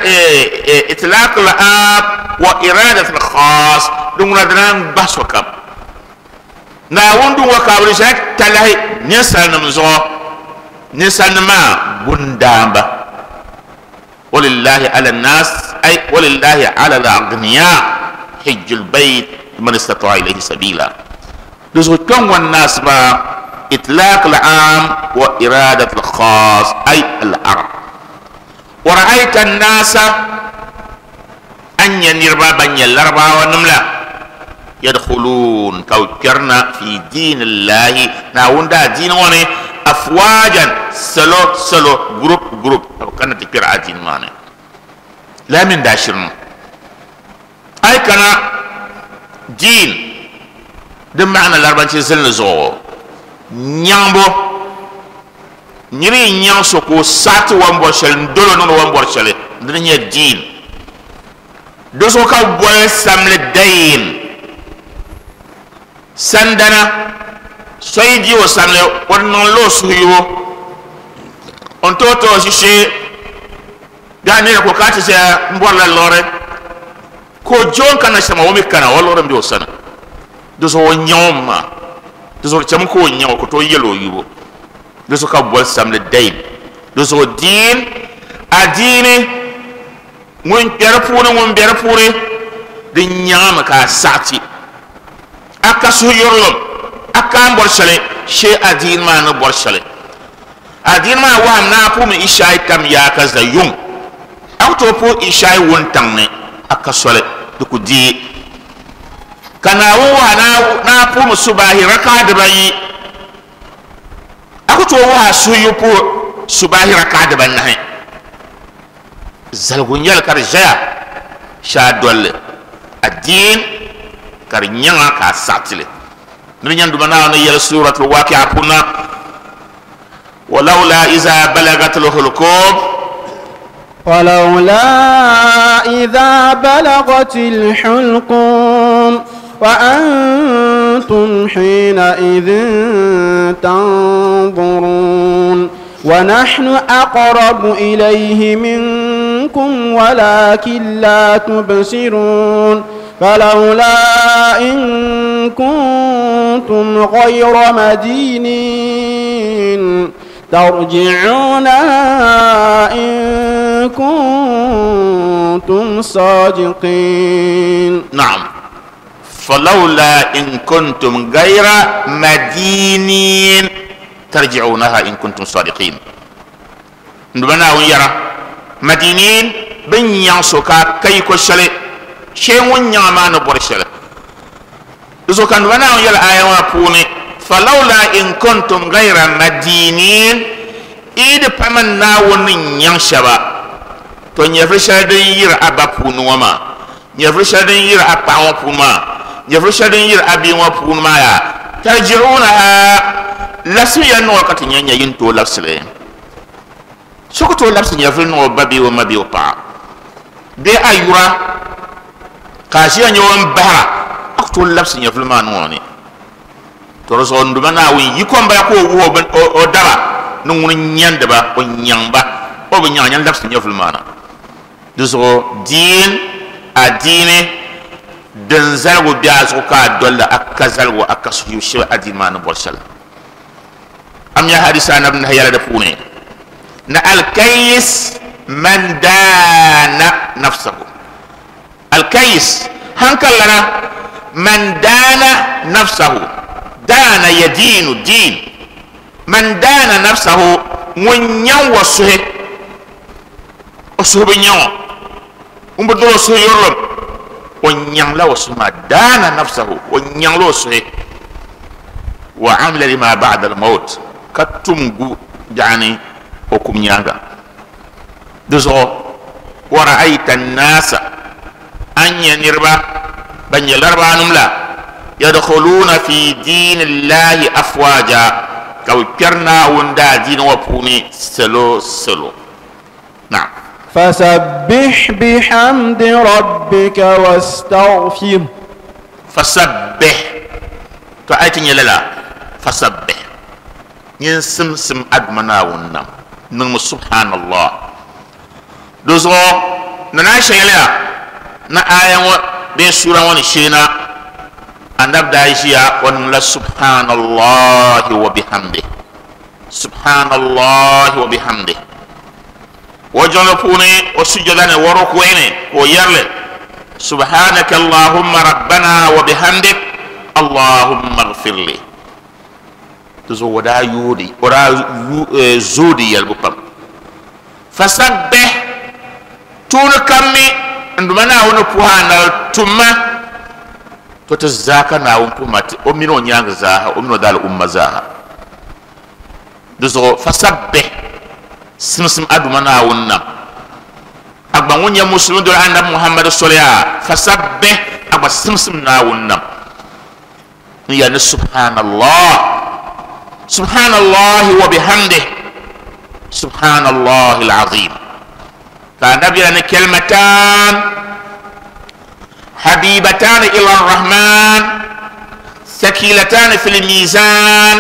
إطلاق الآب وإرادة الخاص دون دران بس وكب na wundu wa kabri shak talahi nisan mzo nisan ma gundamba walillahi ala nas ay walillahi ala al-aghniya hajjul bayt man istata'a ilayhi sabila duzu kan wan nas ba itlaq al-am wa iradat al-khas ay al-arab wa ra'aita an-nasa an yanirba ban yalarba wa namla يدخلون كوكرنا في دين الله ناوندا دين وني أفواجا سلو سلو جروب جروب كان تكير عدين ماني لا من داشرنا أي كان دين دم معنى الأربعة سنة زو Nyaŋbo niri nyaŋ so ko saati wan bɔri shɛli n dolo niŋdi wan bɔri shɛli dini nyɛ diin di zuɣu ka boli samli dayin sandana so yi di o samli o niŋla o suhuyubu n tooi ti o shishee daa nira ko ka ti ʒɛya n bɔrila liɣiri ka o je o ni kana shɛm o mi kana o liɣiri n bɛ o sani di zuɣu o nyaŋ o mi maa di zuɣu chɛmi ka o nyaŋ o ka tooi yɛli o yubu di zuɣu ka boli samli dayin di zuɣu diin adiini ŋun kpɛ di puuni ŋun bɛ di puuni di nyaŋami ka a saɣati a ka suhuyurilim a ka n bɔri shɛli shee adiini maa ni bɔri shɛli adiini maa waham na a puumi ishaai tam yaa ka za yuŋ a ku tooi puhi ishaai wuntaŋ ni a ka soli di ku deei ka Naawuni waha na a puhimi subahi rakaa dibayi a ku tooi waha suhuyu puhi subahi rakaa dibanahi zaligu n-nyɛli ka di ʒɛya shee a dolli adiin ka di nyaŋa ka a saɣatili ni di nyɛ Duuma Naawuni ni yɛli suratul Waqi'a puuni na ولولا إذا بلغت الحلقوم ولولا إذا بلغت الحلقوم وأنتم حينئذ تنظرون ونحن أقرب إليه منكم ولكن لا تبصرون فلولا إن كنتم غير مدينين ترجعونها إن كنتم صادقين. نعم. فلولا إن كنتم غير مدينين ترجعونها إن كنتم صادقين. نبنا ويرى مدينين بن ينسوكا كي كشلي شيء ونعمان برشلي. إذا كان نبنا ويرى آية وابوني فلولا إن كنتم غير مدينين إذ فمن ناون ينشبا تو نيفرشادين ير أبا بونوما نيفرشادين ير أبا بونما نيفرشادين ير أبي بونما يا ترجعونها لسيا نوكت نيا ينتو لسلي سكتو لبس نيفر نو بابي وما بي وبا دي أيورا كاشيا نيوان بحرا أكتو لبس نيفر ما نواني to so nduma na won yikom ba ko wo o dara no ngun nyande ba o nyamba o be nyanya ndaf nyaful mana do so din adine den zalgo bi azu ka dolla akazalgo akasu yushi adin mana borsal am ya hadisa na ibn hayala da pune na al kayis man dana nafsahu al kayis hankalana man dana nafsahu دان يدين الدين من دان نفسه من يوسه أسه بنيو ومبدل أسه يرلم ونيان لا وسه دان نفسه ونيان لا وسه وعمل لما بعد الموت كتمغو يعني حكم نيانغا دزو ورأيت الناس أن ينربا بن يلربا نملا يدخلون في دين الله أفواجا كو كرنا وندا دين وبوني سلو سلو. نعم. فسبح بحمد ربك واستغفر. فسبح تأتي لا فسبح ينسم سم أدمنا ونم نعم سبحان الله دوزو نناشي لا نا آية بين سورة ونشينا أن نبدأ إشياء ونقول سبحان الله وبحمده سبحان الله وبحمده وجنبوني وسجدني وركويني ويرلي سبحانك اللهم ربنا وبحمدك اللهم اغفر لي تزودا يودي ورا زودي يلبقم فسبح تون كمي عندما نقول تما to zaka na won kuma o mino nyanga zaha o mino dal umma zaha duzo fasabbih simsim aduma na wonna agba wonya muslimu do annabi Muhammad sallallahu fasabbih agba simsim na wonna ya ni subhanallah سبحان الله وبحمده سبحان الله العظيم فالنبي أن كلمتان حبيبتان إلى الرحمن ثقيلتان في الميزان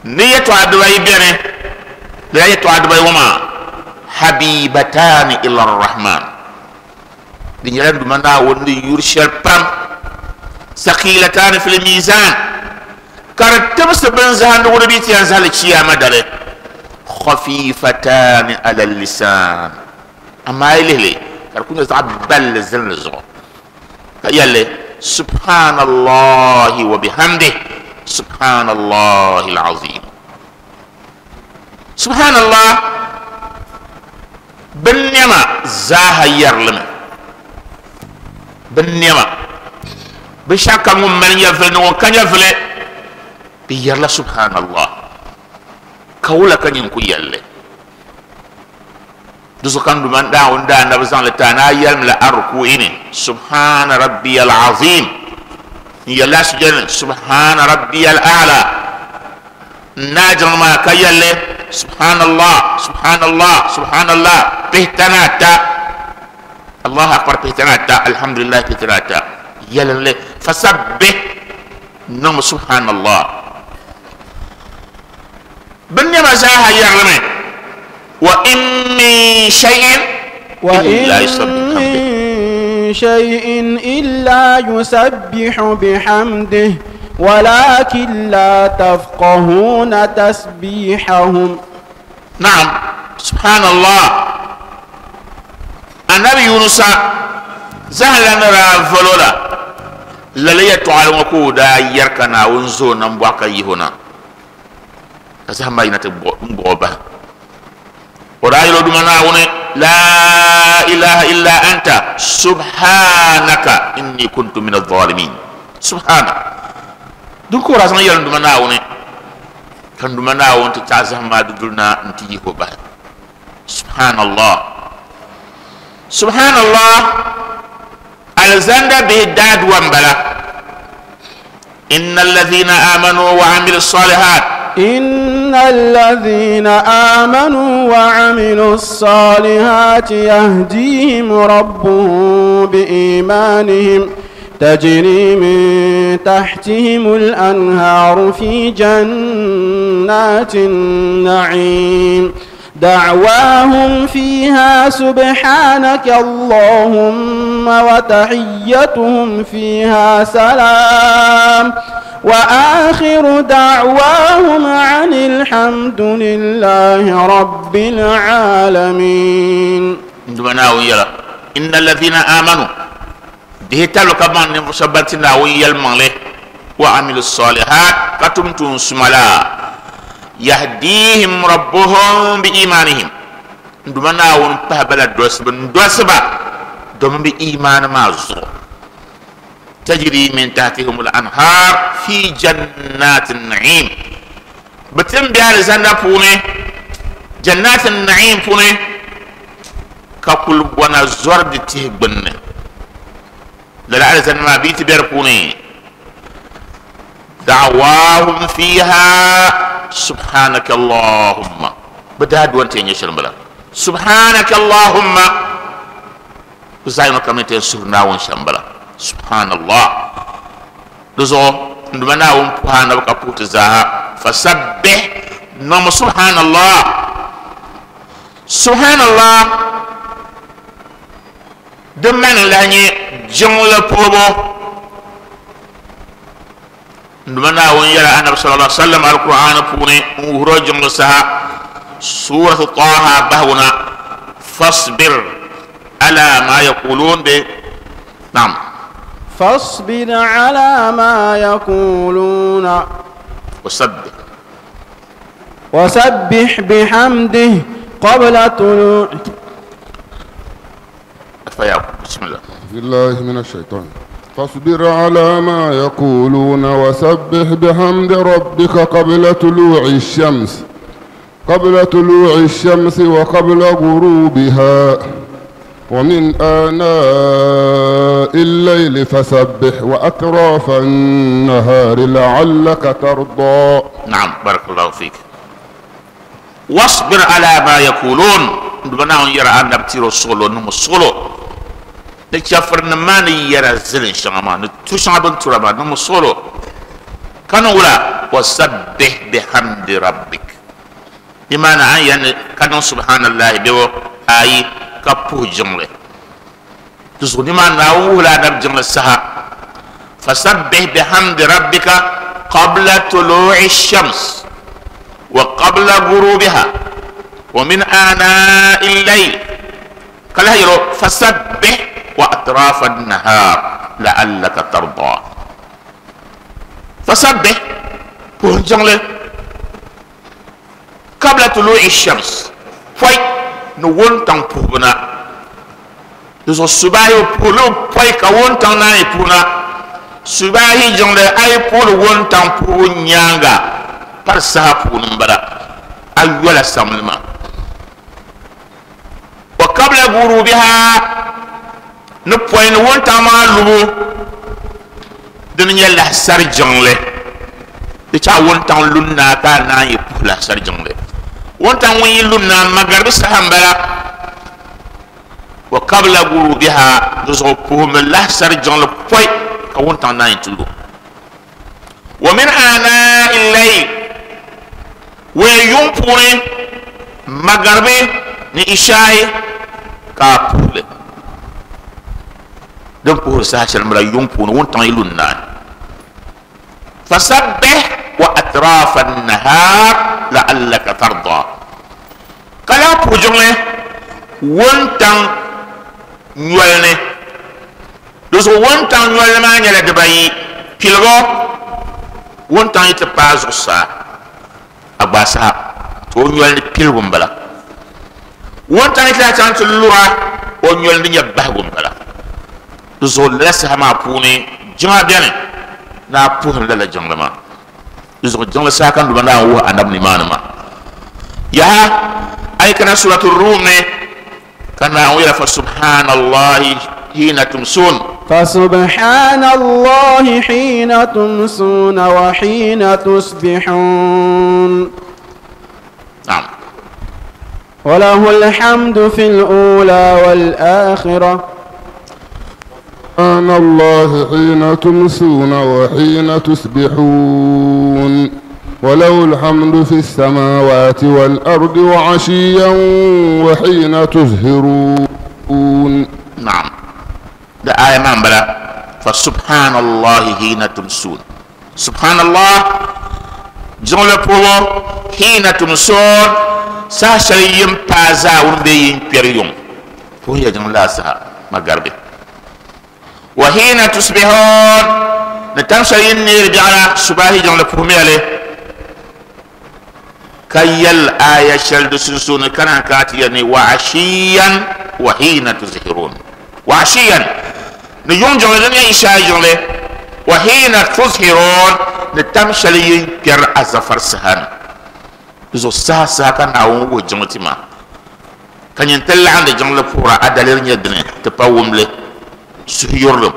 نية عدوي بينه لا يتعدوي وما حبيبتان إلى الرحمن دي دمنا وندي يرشل بام ثقيلتان في الميزان كرتبس بنزهان وربيت ينزل الشيامة داره خفيفتان على اللسان أما إليه لي كركون يزعب بل زلزو يالي سبحان الله وبحمده سبحان الله العظيم سبحان الله بالنعمة زاها يرلم بالنعمة بشاكا من يفل وكان يفل بيرلا سبحان الله كولا كان ينكو يالي دوسو كان دومان دا وندا نبزان لتانا يلم لأركو إني سبحان ربي العظيم يلا سجن سبحان ربي الأعلى ناجر ما كيالي سبحان الله سبحان الله سبحان الله بهتناتا الله أكبر بهتناتا الحمد لله بهتناتا يلا فسبح نعم سبحان الله بني زاها يعلم وإن من شيء إلا يسبح وإن من شيء إلا يسبح بحمده ولكن لا تفقهون تسبيحهم. نعم سبحان الله. النبي يونس زهل نرى فلولا للي تعلم كودا يركنا ونزو نمبوك يهونا كزهم ما ينتبه وراي لو دمنا لا إله إلا أنت سبحانك إني كنت من الظالمين. سبحانك دونك راسنا يلن دمنا وني كان دمنا ونت تعزهم ما دلنا انتي هو سبحان الله سبحان الله. الزند به داد وانبلا إن الذين آمنوا وعملوا الصالحات إن الذين آمنوا وعملوا الصالحات يهديهم ربهم بإيمانهم تجري من تحتهم الأنهار في جنات النعيم دعواهم فيها سبحانك اللهم وتحيتهم فيها سلام وآخر دعواهم عن الحمد لله رب العالمين. إن الذين آمنوا دهتالو كمان نفسبتنا ويلمالي وعملوا الصالحات كتمتم سملا يهديهم ربهم بإيمانهم دمنا ونبه دوس دوسبا دم بإيمان ما زو تجري من تحتهم الأنهار في جنات النعيم بتم بها لزنا فوني جنات النعيم فوني ككل وانا زرد تهبن لا لزنا ما بيت بيرفوني دعواهم فيها سبحانك اللهم بداد وانت ينشر بلا سبحانك اللهم وزاينو كمنت سرنا وانشمبلا سبحان الله دزو ndumana won puhana ka putu zaha fasabbih nam سبحان الله سبحان الله دمان لاني جمله بوبو ndumana won yara annabi sallallahu alaihi wasallam alquran pune wuro jumla saha surah taha bahuna fasbir ala ma yaqulun bi nam فاصبر على ما يقولون وسبح وسبح بحمده قبل طلوع. بسم الله بالله من الشيطان. فاصبر على ما يقولون وسبح بحمد ربك قبل طلوع الشمس قبل طلوع الشمس وقبل غروبها ومن آناء الليل فسبح وأطراف النهار لعلك ترضى. نعم بارك الله فيك. واصبر على ما يقولون دبنا يرى أن نبتيرو سولو نمو سولو نتشافر نماني يرى زلن شغما نتوشع بنتربا نمو سولو كانوا ولا وسبح بحمد ربك بمعنى يعني كانوا سبحان الله بيو آي كابو جملة تزغني ما ناولا نب جملة سها فسبح بحمد ربك قبل طلوع الشمس وقبل غروبها ومن آناء الليل قال يرو فسبح وأطراف النهار لعلك ترضى. فسبح جملة قبل طلوع الشمس فاي نوون تان بوبنا دو سباهي بولو فاي كوون تان ناي بونا سباهي جملة اي بول وون تان بو نيانغا par saha puuni m-bala a yola samli maa wa qabla gurubiha ni pɔi ni wuntaŋ maa lubu dini nyɛ lahisari jiŋli di chaɣ wuntaŋ lun naa ka a naan yi puhi lahisari jiŋli wuntaŋ ŋun yi lun naa magaribi saha m-bala wa qabla gurubiha di zuɣu puhimi lahisari jiŋli pɔi ka wuntaŋ naan yi ti lu wa min aanaa'i l-layl ويوم پوري مغربي ni isha'i ka puhili din puhiri saha shɛli m-bala yuŋ puuni wuntaŋ yi lu n-naai fasabbih wa atrafa an-nahar la'allaka tarda ka lahi puhi jiŋli wuntaŋ nyoli ni di zuɣu wuntaŋ nyoli maa nyɛla dibayi piligu wuntaŋ yi ti paai zuɣusaa a gbaai saha to o nyoli ni piligu m-bala wuntaŋ yi ti lahi chaŋ ti lura o nyoli ni nyɛ bahigu m-bala di zuɣu lala saha maa puuni jiŋa beni ni a puhiri lala jiŋli maa di zuɣu jiŋli saha ka Duuma naan wuhi anabi nimaani maa yaha a yi kana suratu Rum ni ka Naawuni yɛla fa subhaanallahi hiina tumsuun فسبحان الله حين تمسون وحين تصبحون. نعم وله الحمد في الأولى والآخرة. سبحان الله حين تمسون وحين تصبحون وله الحمد في السماوات والأرض وعشيا وحين تظهرون. نعم ده آية ما بلا فسبحان الله حين تمسون سبحان الله جملة بولو حين تمسون ساشريم بازا وربين بيريوم وهي جملة سها مغربي وحين تصبحون نتمشي نير بيعنا صباحي جملة بوميالي كيل آية شلد سنسون كان كاتيني وعشيا وحين تظهرون وعشيا نيوم جملة دنيا إشاء جملة وحين تظهرون نتمشي بير أزفر سهان زو سا سا كان أو جملة ما كان ينتلع عند جملة فورا أدلر نيدني تباوم لي سهيرلم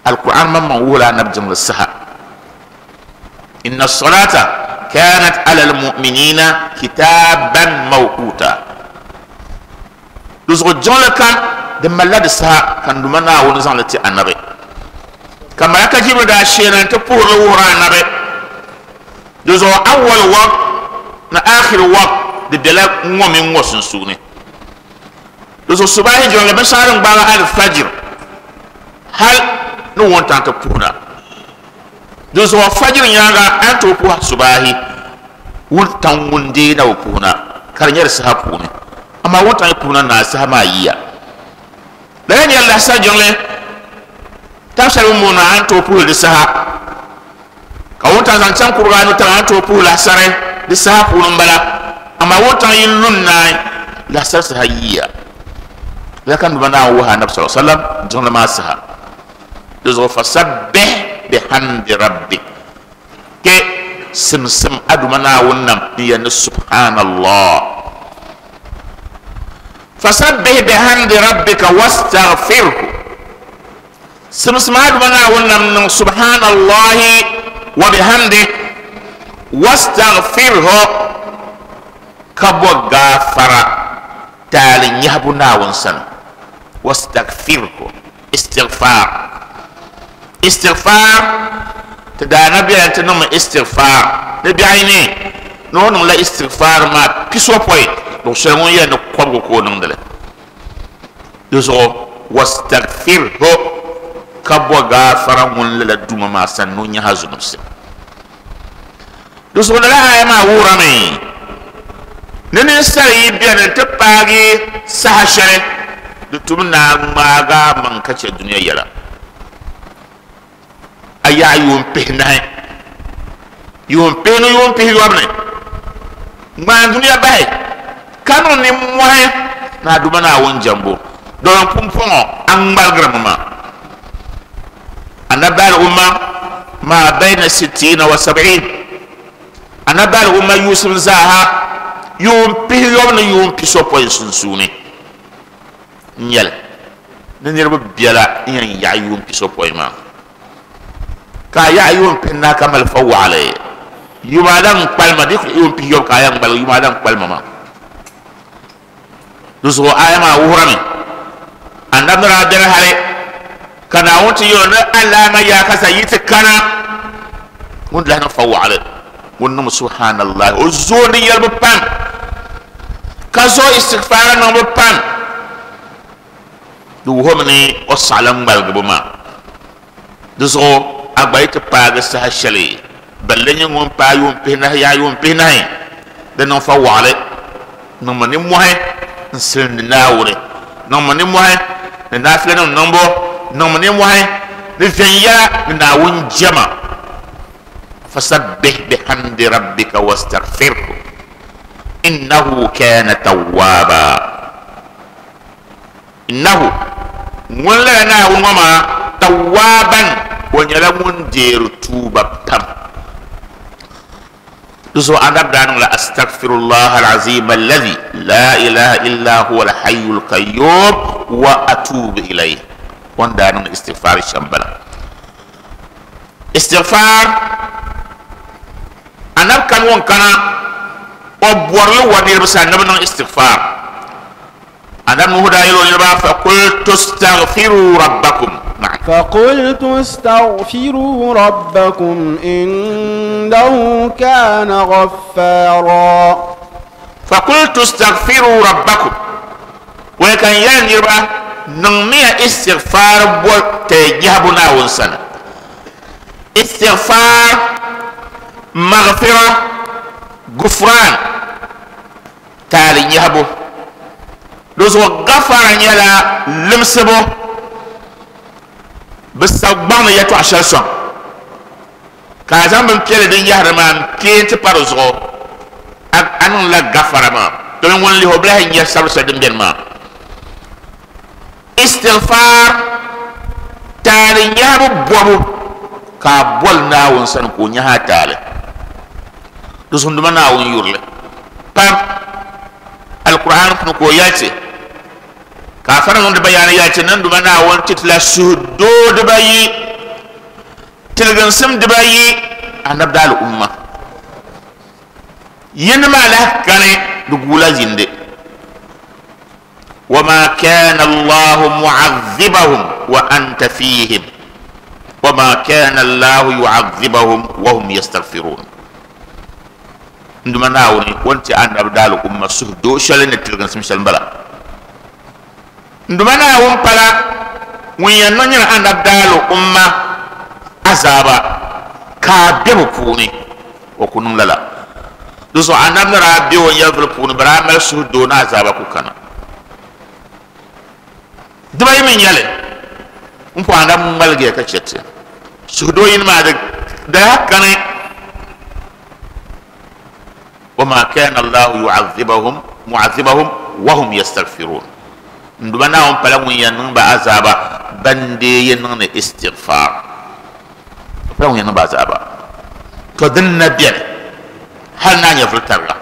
القرآن ما مولا نبجم للسها إن الصلاة كانت على المؤمنين كتابا موقوتا لزغ الجملة كان دم الله السها كان دمنا ونزان لتي النبي كما يكجيب دا شينا تبور ورا النبي لزغ أول وقت na آخر وقت دلال مؤمن وسنسوني لزغ الصباح جملة بشارن بارا الفجر هل نوون تانت پونا دوزو فجر nyanga anto pu subahi wuntan wunde na puna karnyar saha pune amma wuntan puna na saha ma yiya dan ya Allah sa jongle tafsir mu na anto pu de saha ka wuntan zan can qur'anu tan anto pu la sare de saha punu bala amma wuntan yillun na la sar saha yiya lakan bana wa annabi sallallahu alaihi wasallam jongle ma saha دوزو فسبح بحمد ربك كي سمسم أدمنا ونم يعني سبحان الله Fasabbih bihamdi rabbika wastaghfirhu. Simsima duma Naawuni nam niŋ subhanallahi wa bihamdihi wastaghfirhu ka bo gaafara taali nyahabu Naawuni sani. Wastaghfirhu istighfar. Istighfar ti daa na bela nti niŋmi istighfar ni biɛhi ni ni o niŋla istighfar maa pisopɔi luɣu shɛli ŋun yɛn ni kɔbigu ka o niŋdili di zuɣu wastaghfirhu ka bo gaafara ŋun lala duma maa sani ni o nyaha zunubsi. Di zuɣu lala aya maa wuhirimi ni ninsali yi beni nti paagi saha shɛli di tum naa ŋmaaga maŋ ka chɛ dunia yɛla a yaɣa yuun pihinahi yuun pihinu yuun pihi yɔbu ni ŋmaan dunia bahi ka niŋ nimmohi ni a duma Naawuni jɛmbu domin pumpɔŋɔ a ŋmaligirimi maa. Annabi al-umma ma bayna sittina wa sab'in annabi al-umma Yusuf zaaha yuun pihi yɔbu ni yuun pisopɔin sunsuuni n nyɛli ni niriba biɛla n yɛn yaɣa yuun pisopɔin maa ka a yaɣa yuun pihinahi ka mali fa waɣali yuma lan kpalima di yuun pihi yɔbu ka a yɛn ŋmaligi yuma lan kpalima maa. Di zuɣu aya maa wuhirimi annabi ni daa beni hali ka Naawuni ti yɛli ni alaama yaakasa yi ti kana ŋun lahi niŋ fa waɣali ŋun niŋ subhanallahi o zooni yɛlibu pam ka zooi istighfara niŋbu pam di wuhimi ni o saɣala ŋmaligibu maa. Di zuɣu a gba yi ti paagi saha shɛli balli nyɛ ŋun paai yuun pihinahi yaɣa yuun pihinahi di niŋ fa waɣali niŋmi nimmohi n silindi Naawuni niŋmi nimmohi ni naafilanima niŋbu niŋmi nimmohi ni viɛnyɛla ni Naawuni jɛma. Fasabbih bihamdi rabbika wastaghfirhu innahu kana tawwaba. Innahu ŋun lala Naawuni ŋɔ maa tawwaban o nyɛla ŋun deeri tuuba pam. Di zuɣu annabi daa niŋla astaghfirullah alazim alladhi la ilaha illa huwa alhayyul qayyum wa atubu ilayh. O ni daa niŋ istighfar shɛm bala. Istighfar annabi kani ŋun kana o bɔrili wa niriba sani ni bi niŋ istighfar. Annabi Nuhu daa yɛli o niriba faqultu astaghfiru rabbakum. فقلت استغفروا ربكم إنه كان غفارا. فقلت استغفروا ربكم وكان ينربا نمي استغفار تجهبنا ونسنا استغفار مغفرة غفران تالي يهبو دوزو غفر يلا لمسبو بس gbang ni yɛtɔɣa shɛli sɔŋ ka a zaŋ bin piɛlli din yahari maa n kee ti pa di zuɣu a niŋla gafara maa domin ŋun lihi o bi lahi nyɛ sabiri shɛli din biɛni maa. Istighfar taali nyahabu bɔbu ka a boli Naawuni sani ka o nyahi a taali di zuɣu duma Naawuni yurili pam. Alkur'an puuni ka o yɛli ti ka a fara niŋdi bayaani yɛli ti niŋ duma Naawuni ti tila suhudoo dibayi tiliginsim dibayi annabi daali umma yini maa lahi kani di guula zindi. Wama kana Allahu mu'adhibahum wa anta fihim wama kana Allahu yu'adhibahum wa hum yastaghfirun. Nduma Naawuni o ni ti annabi daali umma suhudoo shɛli ni tiliginsim shɛli n bala. Nduma Naawuni pala ŋun yɛn niŋ nyɛla annabi daali umma azaaba ka a be bi puuni o ku niŋ lala. Di zuɣu annabi ni daa be o nyɛvili puuni bi daa mali suhudoo ni azaaba ku kana. Dibayi mi nyɛli n po annabi ŋmaligiya ka chɛ ti suhudoo yini maa di daa kani wama kana Allahu yu'adhibahum mu'adhibahum wa hum yastaghfirun. Nduma Naawuni pala ŋun yɛn niŋ ba azaaba ban dee yɛn niŋ ni istighfar pala ŋun yɛn niŋ ba azaaba to din na biɛni hali naa nyɛvili tariga.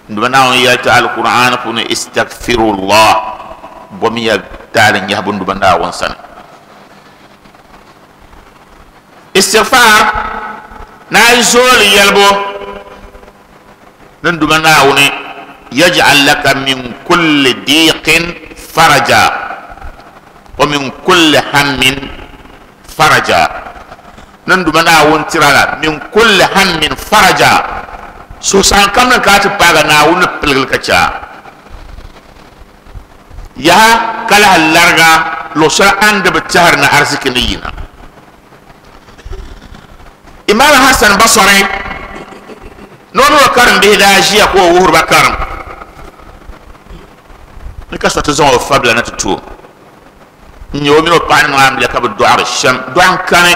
Nduma yalta alquran puni istaghfirullah bomiya taali nyahabu nduma naawuni sani istighfar na zooli yɛlibu ni nduma naawuni yaj'al laka min kulli diqin faraja wa min kulli hammin faraja ni nduma naawuni tirala min kulli hammin faraja so san kam na ka ti paaga naawuni piligili ka cha yaha kala larga lo shɛli a ni di bi tɛhiri ni ariziki ni yina Imam Hassan Basri nono karim bihi daa ʒiya ka o wuhiri ba karim ni ka so ti zaŋ o fabila na ti to n nyɛ o mini o paɣa ni niŋ amiliya ka bi dɔɣiri shɛm dɔɣim kani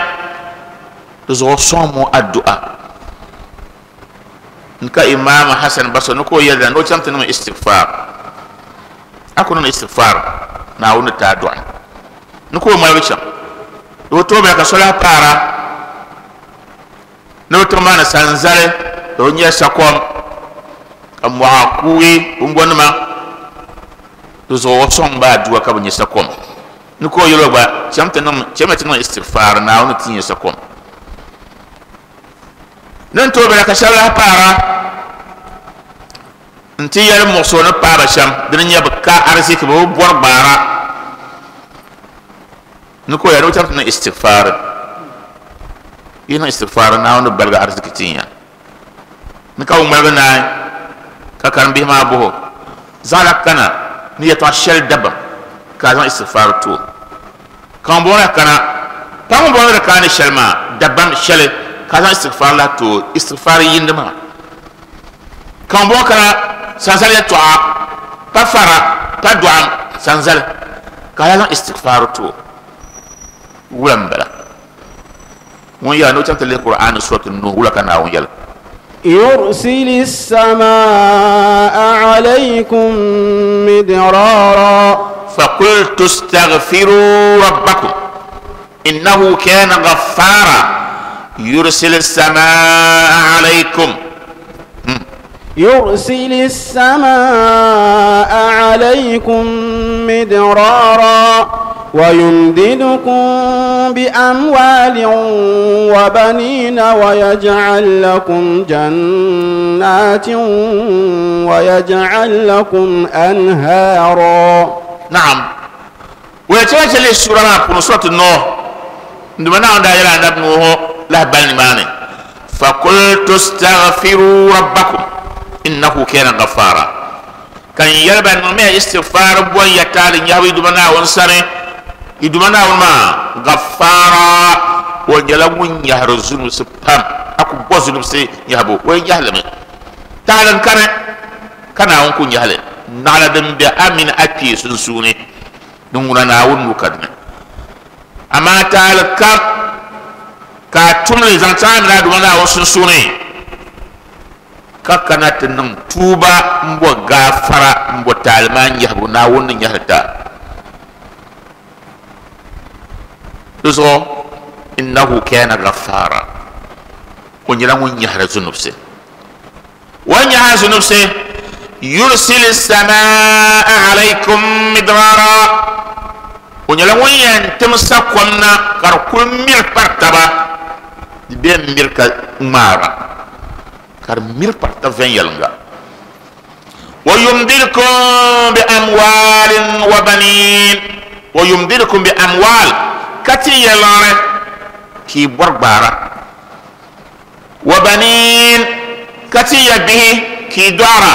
di zuɣu sɔŋ mo addu'a n ka Imam Hassan Basri ni ka o yɛlila ni o chaŋ ti niŋ istighfar a ku niŋ istighfar Naawuni ti a dɔɣi ni ka o ŋmaligi chaŋ di bi tooi bala ka so lahi paara ni bi tiŋ maa ni sanzali di bi nyɛ sakom ka mɔɣa kuugi bunbɔnima di zuɣu o sɔŋ ba aduwa ka bi nyɛ sakom ni ka o yɛli o gba chaŋ ti niŋ chama ti niŋ istighfar Naawuni ti nyɛ sakom ni n tooi bala ka shɛba lahi paara n ti yɛli muɣuso ni paaba shɛm dini nyɛ bi ka ariziki bi bi bɔri gbaara ni ka o yɛli ni o chaŋ ti niŋ istighfar yi niŋ istighfar Naawuni baligi ariziki tin ya ni ka bi ŋmaligi naai ka karimbihi maa boho zaɣala kana ni yɛltɔɣa shɛli dabam ka a zaŋ istighfar to ka ŋun bɔŋɔ la kana pa ŋun bɔŋɔ di kaani shɛli maa dabam shɛli ka a zaŋ istighfar la to istighfar yindi maa ka ŋun bɔŋɔ kana sanzali yɛltɔɣa pa fara pa dɔɣim sanzali ka a zaŋ istighfar to wula n bala ŋun yɛla ni o chaŋ ti lihi Qur'an suratu Nuh wula ka Naawuni yɛli يرسل السماء عليكم مدرارا فقلت استغفروا ربكم إنه كان غفارا يرسل السماء عليكم يرسل السماء عليكم مدرارا ويمددكم بأموال وبنين ويجعل لكم جنات ويجعل لكم أنهارا. نعم. ويتواجه لي السورة ما سورة النوح عندما نعم دائرة عند ابنه له بني فقلت استغفروا ربكم إنه كان غفارا. كان يربى نمي استغفار بوان يتالي يهوي دمنا ونساني يدمنا وما غفارا ونيلا يهر الزنوب سبام أكو بوزنوب سي يهبو وين يهلم تعالى كان كان أنكو يهلم نعلى دم بأمين أكي سنسوني نمونا ناون مكدنا أما تعالى كان كاتملي زانتان لا دمنا وسنسوني kakana ti niŋ tuuba n bo gaafara n bo taali yahabu Naawuni ni yahali ta di zuɣu innahu kana ghaffara o nyɛla ŋun yahari zunubsi o yahari zunubsi yursil samaa alaykum midrara o nyɛla ŋun yɛn tim sakom na ka di kuli miri pari taba di bɛ miri ka ŋmaara كرمير بارتفين يلنغا ويمددكم بأموال وبنين ويمددكم بأموال كتي يلارة كي بربارة وبنين كتي يبه كي دارة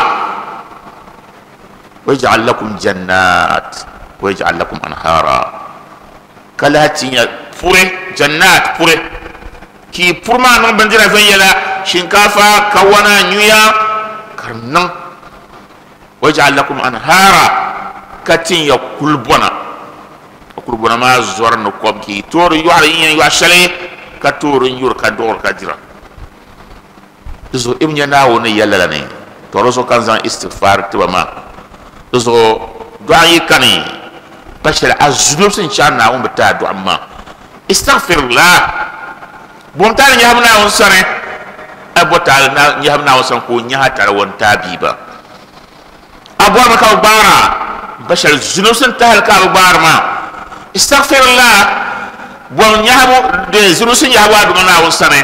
ويجعل لكم جنات ويجعل لكم أنهارا كلاتي فوري جنات فوري كي فرما نون بندira فين يلا shinkafa kawana nyuya karnan waj'al lakum anhara katin ya kulbona kulbona ma zor no kom ki tor yuar yin yu shale ka tor yur ka dor ka dira zo ibn yana woni yalla la ne toro so kan zan istighfar tiba ma zo du'a yi kani bashar azunub sin cha na won bata du'a ma istaghfirullah bom tan ya hamna won sare abo taal na nyaham na wasan ko nyaha tar won tabi ba A bɔrimi ka bi gbaara bashɛli zunusi n tahali ka bi gbaari maa. Istaghfirullah bɔm nyahabu de zunusi nyahabu a duma Naawuni sani.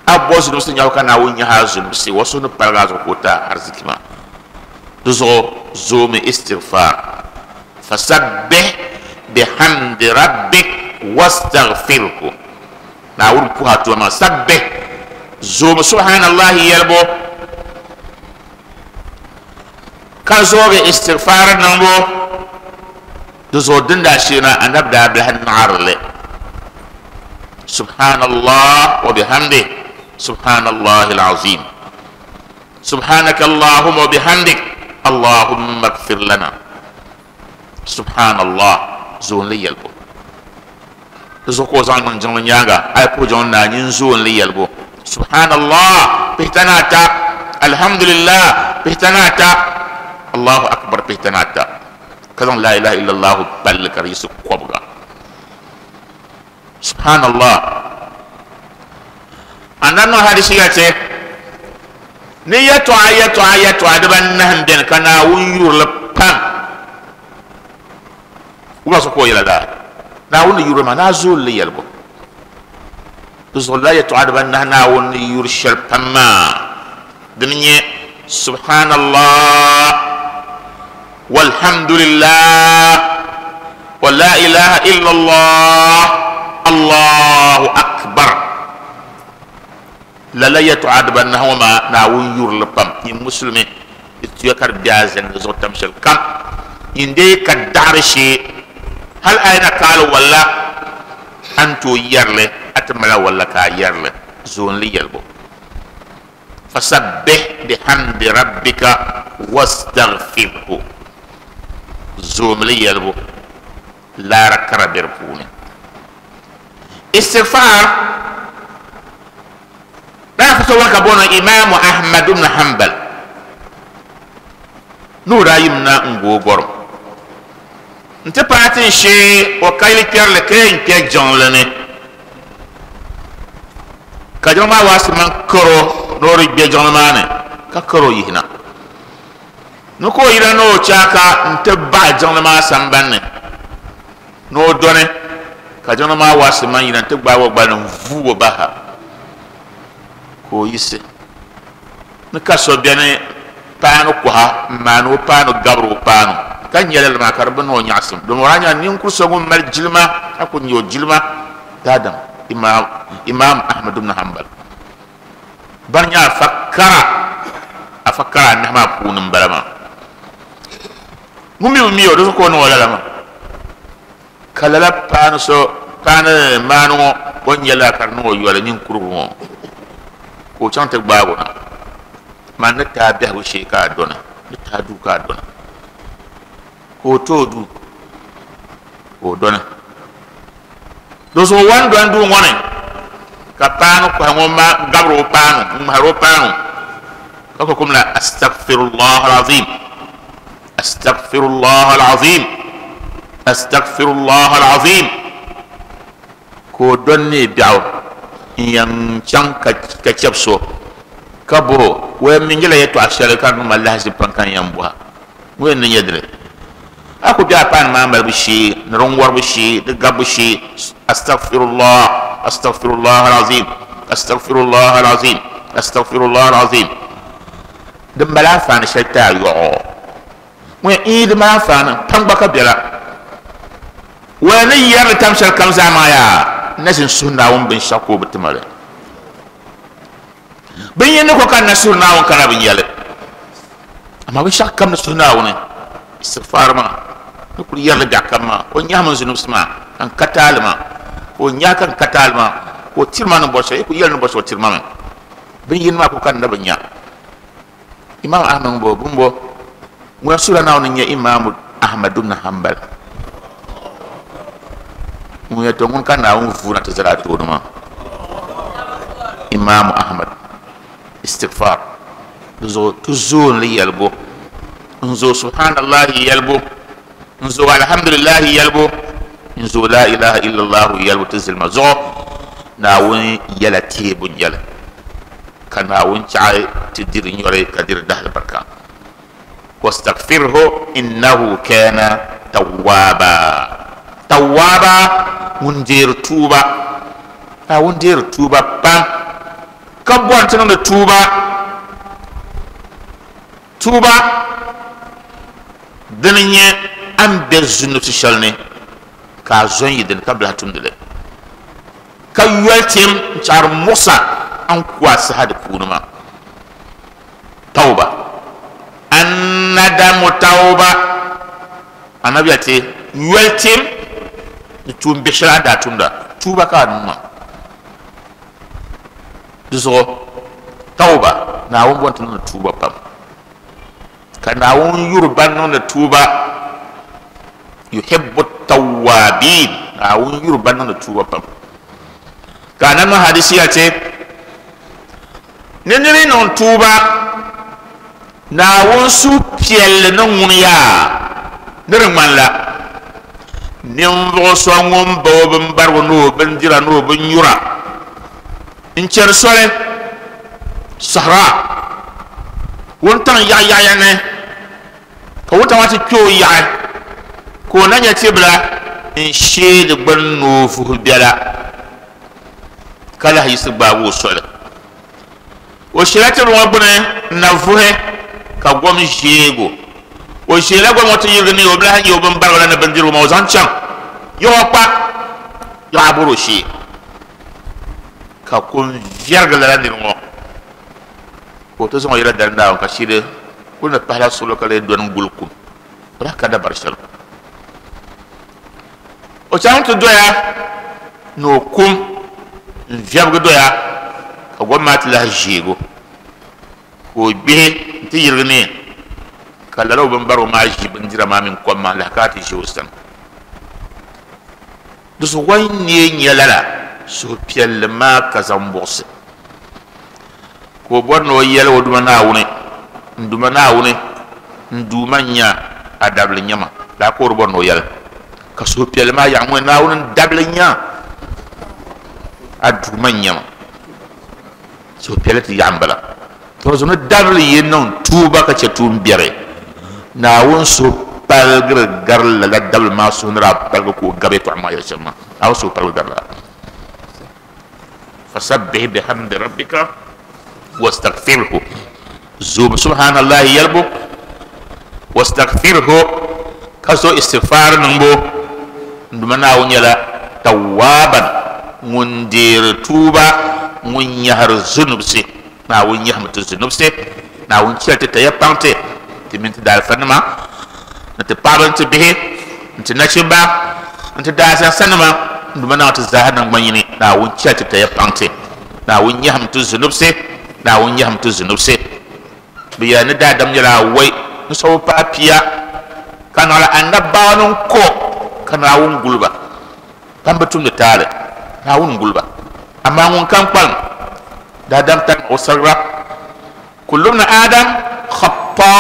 A bɔ zunusi nyahabu ka Naawuni nyaha zunusi wa suhu ni paligi a zuɣu ka o ti a ariziki maa. Di zuɣu zoomi istighfar. Fasabbih bihamdi rabbik wastaghfirhu. Naawuni puhi a tuma maa sabbih zoomi subhanallahi yɛlibu ka zoogi istighfar niŋbu. Di zuɣu din daa sheena anabi daa bilahi naɣarili subhanallah wa bihamdih subhanallahi alazim subhanaka allahumma wa bihamdik allahumma ighfir lana. Subhanallah zoon li yɛlibu. Di zuɣu ka o zaŋ niŋ jiŋli nyaaŋa a yi puhi jiŋli naa nyin zoon li yɛlibu subhanallah pihita ni ata, alhamdulillah pihita ni ata, allahu akbar pihita ni ata, ka zaŋ la ilaha illallah palli ka di yiɣisi kɔbiga. Subhanallah. Annabi niŋ hadisi ya che ni yɛtɔɣa yɛtɔɣa yɛtɔɣa dibanahi n beni ka Naawuni yurili pam. Wula so ka o yɛla laa Naawuni ni yurili maa naa zooli li yɛlibu. Di zuɣu la yɛtɔɣa dibanahi Naawuni ni yuri shɛli pam maa dini nyɛ subhanallah walhamdulillah wa la ilaha illallah allahu akbar. Lala yɛtɔɣa dibanahi ŋɔ maa Naawuni yurili pam. Nyin musulimi di tuya ka di be a zani di zuɣu tam shɛli kam. Nyin dee ka daɣari shee hali a yi na kaali walla a ni tooi yɛrili a ti mali walla ka a yɛrili zoon li yɛlibu. Fasabbih bihamdi rabbika wastaghfirhu. Zoomi li yɛlibu laara kara be di puuni. Istighfar daa fa so ka bono Imaamu Ahmad ibn Hanbal n'o daa yimna n gooi gɔrim n ti paai tin shee o ka yili kpɛrili ka yɛn kpɛ jiŋli ni ka jiŋli maa waasi man karo ni o di kpɛ jiŋli maa ni ka karo yihina ni ka o yina ni o chaaka n ti baɣa jiŋli maa sambanni ni o dɔni ka jiŋli maa waasi man yina n ti gbaagi o gbali n vuugi o baha ka o yiɣisi ni ka so beni paanu kɔha n maani o paanu gabiri o paanu ka nyɛla li maa ka di bi niŋ o nyaɣasim domi o daa nyɛla ninkuri so ŋun mali jilima ka ku nyɛ o jilima daadam Imam Imam Ahmad ibn Hanbal bani nyɛ afa kara afa kara anahi maa puuni n bala maa ŋun mi bi mi o di zuɣu ka o niŋ o lala maa ka lala paanu so paanu maani ŋɔ o ni nyɛla ka di niŋ o yɔli ninkurigu ŋɔ ka o chaŋ ti gbaagi o na man ni taa biɛhigu shee ka a dɔni ni taa duu ka a dɔni ka o tooi duu ka o dɔni. Di zuɣu wan dɔni duu ŋɔ ni ka paanu kɔhi ŋɔ ma gabiri o paanu n ŋmahiri o paanu ka ko kum la astaghfirullah alazim astaghfirullah alazim astaghfirullah alazim ka o dɔni ne biɛɣu n yɛn chaŋ ka chɛbi so ka bo o yɛn mi nyɛla yɛltɔɣa shɛli ka di niŋ ma lahaʒi pam ka n yɛn bɔha ŋɔ yɛn ni nyɛ dini a ku bɛ a paanu maa malibu shee ni din wɔribu shee di gabbu shee astaghfirullah astaghfirullah alazim astaghfirullah alazim astaghfirullah alazim din mali anfaani shɛli ti a yɔɣɔ ŋɔ yɛn ii di mali anfaani pam gba ka bela o yɛn ni yɛrili tam shɛli kam zaa maa yaa n na ʒini suhi Naawuni binshɛɣu ka o bi ti ma li bin yini ko ka n na suhi Naawuni ka na bi nyɛli amaa binshɛɣu kam ni suhi Naawuni istighfar maa ni kuli yɛrili biɛɣu kam maa o nyahi min zunubsi maa ka n ka taali maa ka o nyahi ka n ka taali maa ka o tiri ma ni bɔri shɛli i ku yɛli ni bɔri shɛli o tiri ma mi bin yini maa ko ka n na bi nya. Imam Ahmad bo bumbo ŋun suhila Naawuni n nyɛ Imam Ahmad ibn Hanbal ŋun yɛ to ŋun ka Naawuni vuuna ti zali a tooni maa Imam Ahmad istighfar di zuɣu ti zoon li yɛlibu n zo subhanallahi yɛlibu n zo alhamdulillahi yɛlibu n zo la ilaha illallah yɛlibu ti zilima zuɣu Naawuni yɛla teebu n yɛli ka Naawuni chaɣi ti diri nyɔri ka diri dahali barika. Wastaghfirhu innahu kana tawwaba. Tawwaba ŋun deeri tuuba. Naawuni deeri tuuba pam. Ka bɔri ti niŋdi tuuba. Tuuba dini nyɛ a ni be zunusi shɛli ni ka a zo n yi dini ka bilahi tumdi li. Ka yoli tim n-chaɣiri muɣisa a ni ku a saha di puuni maa. Tawba. Annadamu tawba. Anabi ya ti yoli tim ni tuun bihi shɛli a ni daa tumda. Tuuba ka a niŋ maa. Di zuɣu tawba Naawuni bɔri ti niŋdi tuuba pam. Ka Naawuni yuri ban niŋdi tuuba. Yuhibbu tawwabin. Naawuni yuri ban niŋdi tuuba pam. Ka anabi hadisi ya ti ni niri niŋ tuuba Naawuni suhupiɛlli ni ŋuni yaa ni di ŋmanila ninvuɣu so ŋun ba o binbarigu ni o bindira ni o binnyura n-chɛri soli sahara wuntaŋ yaɣayaɣaya ni ka wuntaŋ maa ti kpe o yaɣi ka o na nyɛ tibila n-shee di gbuni ni o vuhi biɛla ka lahi yiɣisi gbaagi o soli. O sheela tibili ŋɔ gbuni n-na vuhi ka gom ʒeego. O sheela gom ŋɔ ti yirigi ni o bilahi nyɛ o binbarigu la ni bindirigu maa o zaŋ chaŋ yaɣa kpa yaɣa bɔri o shee ka kom viɛrigi lala niri ŋɔ ka o ti zaŋ o yɛla dali Naawuni ka shiri kuli ni pahila suɣulo ka lee dɔni n-guli kum. O lahi ka dabari shɛli. O chaŋ ti doya ni o kum n-viɛbigi doya ka gom maa ti lahi ʒeego ka o gbihi n-ti yirigi ni ka lala o binbarigu maa ʒi bindira maa mini kom maa n-lahi ka ti ʒe o sani. Di zuɣu o ni neei nyɛ lala suhupiɛlli maa ka zaŋ buɣisi ka o bɔri ni o yɛli o Duuma Naawuni n Duuma Naawuni n Duuma n-nya a dabili nyama laa ka o di bɔri ni o yɛli ka suhupiɛlli maa yaɣi ŋɔ Naawuni n dabili nya a Duuma n-nyama. Suhupiɛlli ti yaɣi m-bala. To zuɣu ni dabili yi niŋ tuuba ka chɛ tuun biɛri Naawuni suhu paligiri gari lala dabili maa suhu ni daa paligi ka o gabi yɛltɔɣa maa yɛli shɛm maa. Naawuni suhu paligi gari lala. Fasabbih bihamdi rabbika wastaghfirhu. Zuum subhanallahi yɛlibu wastaghfirhu ka zo istighfar niŋbu. N Duuma Naawuni nyɛla tawwaban ŋun deeri tuuba ŋun nyahiri zunubsi. Naawuni nyahimi ti zunubsi. Naawuni chɛli ti taya paŋ ti ti mini ti daalifanima ni ti paɣaba ni ti bihi ni ti nachimba ni ti daasɛnsanima. N Duuma Naawuni ti zaaha naŋgban yini. Naawuni chɛli ti taya paŋ ti. Naawuni nyahimi ti zunubsi. Naawuni nyahimi ti zunubsi. Bɛ yɛli ni daadam nyɛla awɔi n sɔbu paai pia ka naɣila annabawa ni ko ka Naawuni guli ba. Ban bi tumdi taali Naawuni guli ba. Amaa ŋun kam kpalim daadam tani o sariga. Kullu ibni Adam khata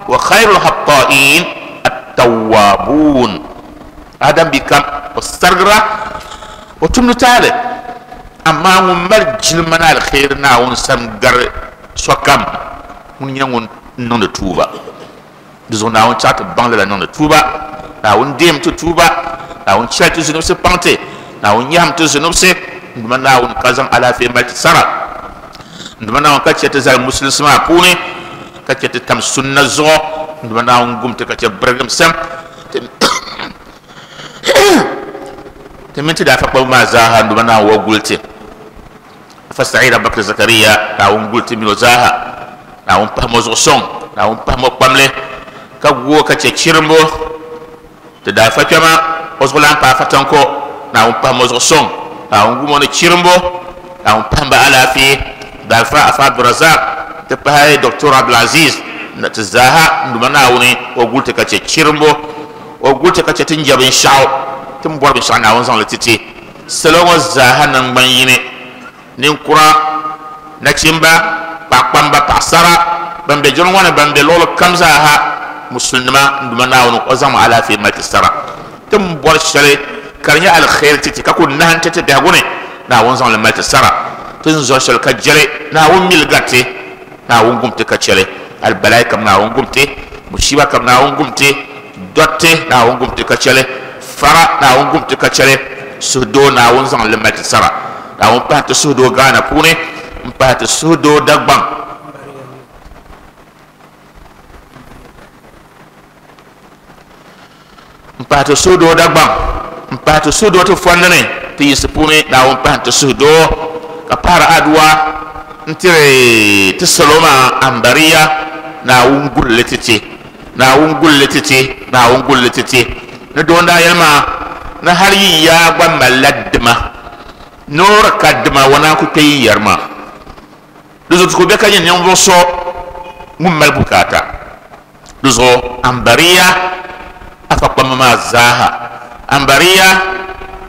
wa khayrul khata'in at-tawwabun. Adam bi kam o sarigira o tumdi taali amaa ŋun mali jilima ni alkhairi Naawuni sani gari sokam ŋun nyɛ ŋun niŋdi tuuba. Di zuɣu Naawuni chaɣ ti baŋ lala niŋdi tuuba. Naawuni deem ti tuuba. Naawuni chɛli ti zunubsi paŋ ti. Naawuni nyahim ti zunubsi. N Duuma Naawuni ka zaŋ alaafee mali ti sara. N Duuma Naawuni ka chɛ ti zali musulinsi maa puuni ka chɛ ti tam sunna zuɣu. N Duuma Naawuni gum ti ka chɛ birigim sam. Ti mini ti daafa kpabu maa zaaha N Duuma Naawuni wa guli ti. Afa Sa'id Abubakar Zakariya Naawuni guli ti mini o zaaha. Naawuni pahimi o zuɣu sɔŋ. Naawuni pahimi o kpamli ka gu o ka chɛ chirimbu. Ti daafa kpɛma o zuɣu lan paai Fatanko. Naawuni pahimi o zuɣu sɔŋ. Naawuni gum o ni chirimbu. Naawuni pahimi ba alaafee. Daafa Afa Abdurazak ti pahi Doctor Abdulaziz na ti zaaha N Duuma Naawuni o guli ti ka chɛ chirimbu. O guli ti ka chɛ ti n jɛ binshaɣu. Ti ni bɔri binshaɣu Naawuni zaŋli ti ti. Salo ŋɔ zaaha naŋgban yini. Ninkura, nachimba, paɣakpamba, paɣasara ban be jiŋli ŋɔ ni ban be luɣuli kam zaaha musulinima N Duuma Naawuni o zaŋmi alaafee mali ti sara. Ti ni bɔri shɛli ka di nyɛ alkhairi ti ti ka ku nahim ti ti biɛhigu ni Naawuni zaŋli mali ti sara. Ti ni zɔri shɛli ka jɛli Naawuni mili gariti. Naawuni gum ti ka chɛli. Albalai kam Naawuni gum ti. Mushiba kam Naawuni gumti dotti Naawuni gumti ka chɛli fara Naawuni gumti ka chɛli suhudoo Naawuni zaŋ li mali ti sara Naawuni pahi ti suhudoo Ghana puuni n pahi ti suhudoo Dagbaŋ n pahi ti suhudoo Dagbaŋ n pahi ti suhudoo ti fondi ni ti yinsi puuni Naawuni pahi ti suhudoo ka pahari aduwa n tiri ti salo maa ambariya Naawuni gulli ti ti Naawuni gulli ti ti Naawuni gulli ti ti ni doo daa yɛli maa ni hali yi yaa gba malila dima noori ka dima wa naan ku kpe yi yɛri maa di zuɣu ti ku be ka nyɛ ninvuɣu so ŋun mali bukaata di zuɣu ambariya afa kpamba maa zaaha ambariya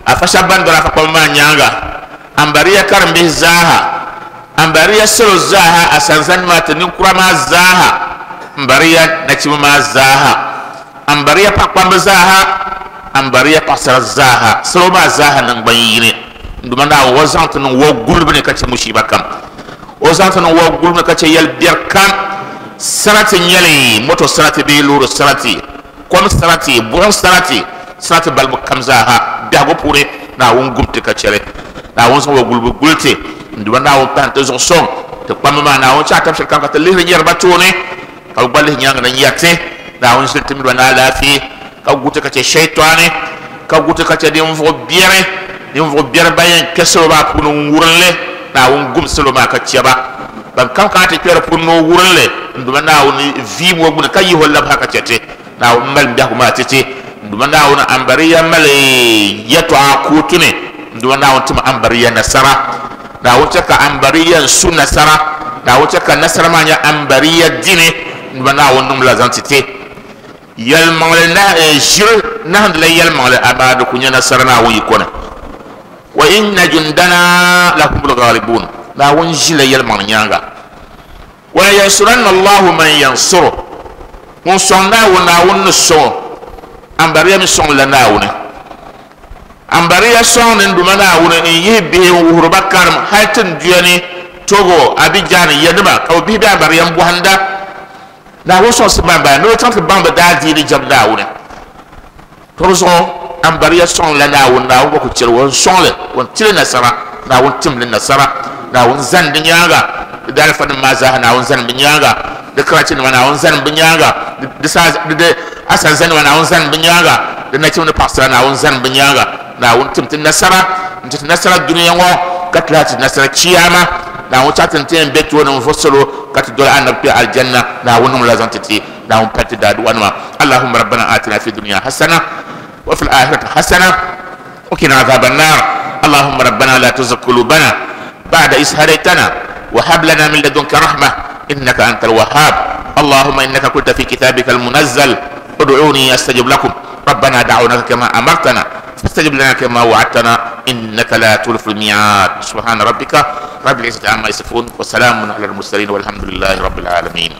afa shɛba ban doli afa kpamba maa nyaanga ambariya karimbihi zaaha ambariya salo zaaha asanzani maa ti ninkura maa zaaha ambariya nachimba maa zaaha ambariya paɣakpamba zaaha ambariya paɣasara zaaha salo maa zaaha nangban yini nduma Naawuni o zaŋ ti niŋ o gulibu ni ka chɛ mushiba kam o zaŋ ti niŋ o gulibu ni ka chɛ yɛli biɛri kam sarati nyɛli moto sarati bee loori sarati kom sarati buɣum sarati sarati balibu kam zaaha biɛhigu puuni Naawuni gumti ka chɛli Naawuni zaŋ o gulibu guli ti nduma Naawuni pahi ti zuɣu sɔŋ ti kpamba maa Naawuni chɛ a tabi shɛli kam ka ti lihiri nyɛriba tooni ka bi gba lihi nyaanga na nyɛriti Naawuni ʒili ti miriba ni alaafee ka guti ka chɛ shɛitɔni ka guti ka chɛ ninvuɣu biɛri ninvuɣu biɛri ban yɛn kpɛ salo maa puuni n wurinli Naawuni gum salo maa ka chɛba ban kam kana ti kpɛ di puuni ni o wurinli nduma Naawuni viim o gbuni ka yihi o labi ha ka chɛ ti Naawuni mali biɛhigu maa ti ti nduma Naawuni ambariya mali yɛtɔɣa kootu ni nduma Naawuni tim ambariya nasara Naawuni chɛ ka ambariya n su nasara Naawuni chɛ ka nasara maa nyɛ ambariya dini nduma Naawuni niŋ la zaŋ ti ti yɛlimaŋli na ʒiri nahindila yɛlimaŋli amaa di ku nyɛ nasara Naawuni yiko ni wa inna jundana lahumul ghalibun Naawuni ʒila yɛlimaŋli nyaanga wa yansuranna Allahu man yansuru ŋun sɔŋ Naawuni Naawuni ni sɔŋ ambariya mi sɔŋ la Naawuni ambariya sɔŋ ni nduma Naawuni n yihi bihi n wuhiri ba karim hali tinduya ni Togo Abidjan yanima ka bi bihi be ambariya n bɔhinda Naawuni sɔŋsi ban bala ni o chaŋ ti baŋ bi daa diini jɛm Naawuni to di zuɣu ambariya sɔŋ la Naawuni Naawuni gba ku chɛri o n sɔŋli o n tili nasara Naawuni timli nasara Naawuni zani di nyaanga di daalifa nim maa zaaha Naawuni zani bi nyaanga di karachi nima Naawuni zani bi nyaanga di di asanza nima Naawuni zani bi nyaanga di nachimba ni paɣasara Naawuni zani bi nyaanga Naawuni tim ti nasara n ti ti nasara dunia ŋɔ ka ti lahi ti nasara chiyaama Naawuni chaɣ ti n ti yɛn be tooni n vo salo ka ti doli annabi kpe aljanna Naawuni niŋ la zaŋ ti ti Naawuni pali ti daaduwa nima Allahumma rabbana atina fi dunya hasana wa fil akhirati hasana wa qina adhaban nar Allahumma rabbana la tuzigh qulubana ba'da idh hadaytana wa hab lana min ladunka rahmah innaka antal wahhab Allahumma innaka qulta fi kitabika al-munazzal ud'uni astajib lakum rabbana da'awnaka kama amartana فاستجب لنا كما وعدتنا إنك لا تخلف الميعاد سبحان ربك رب العزة عما يصفون وسلام على المرسلين والحمد لله رب العالمين.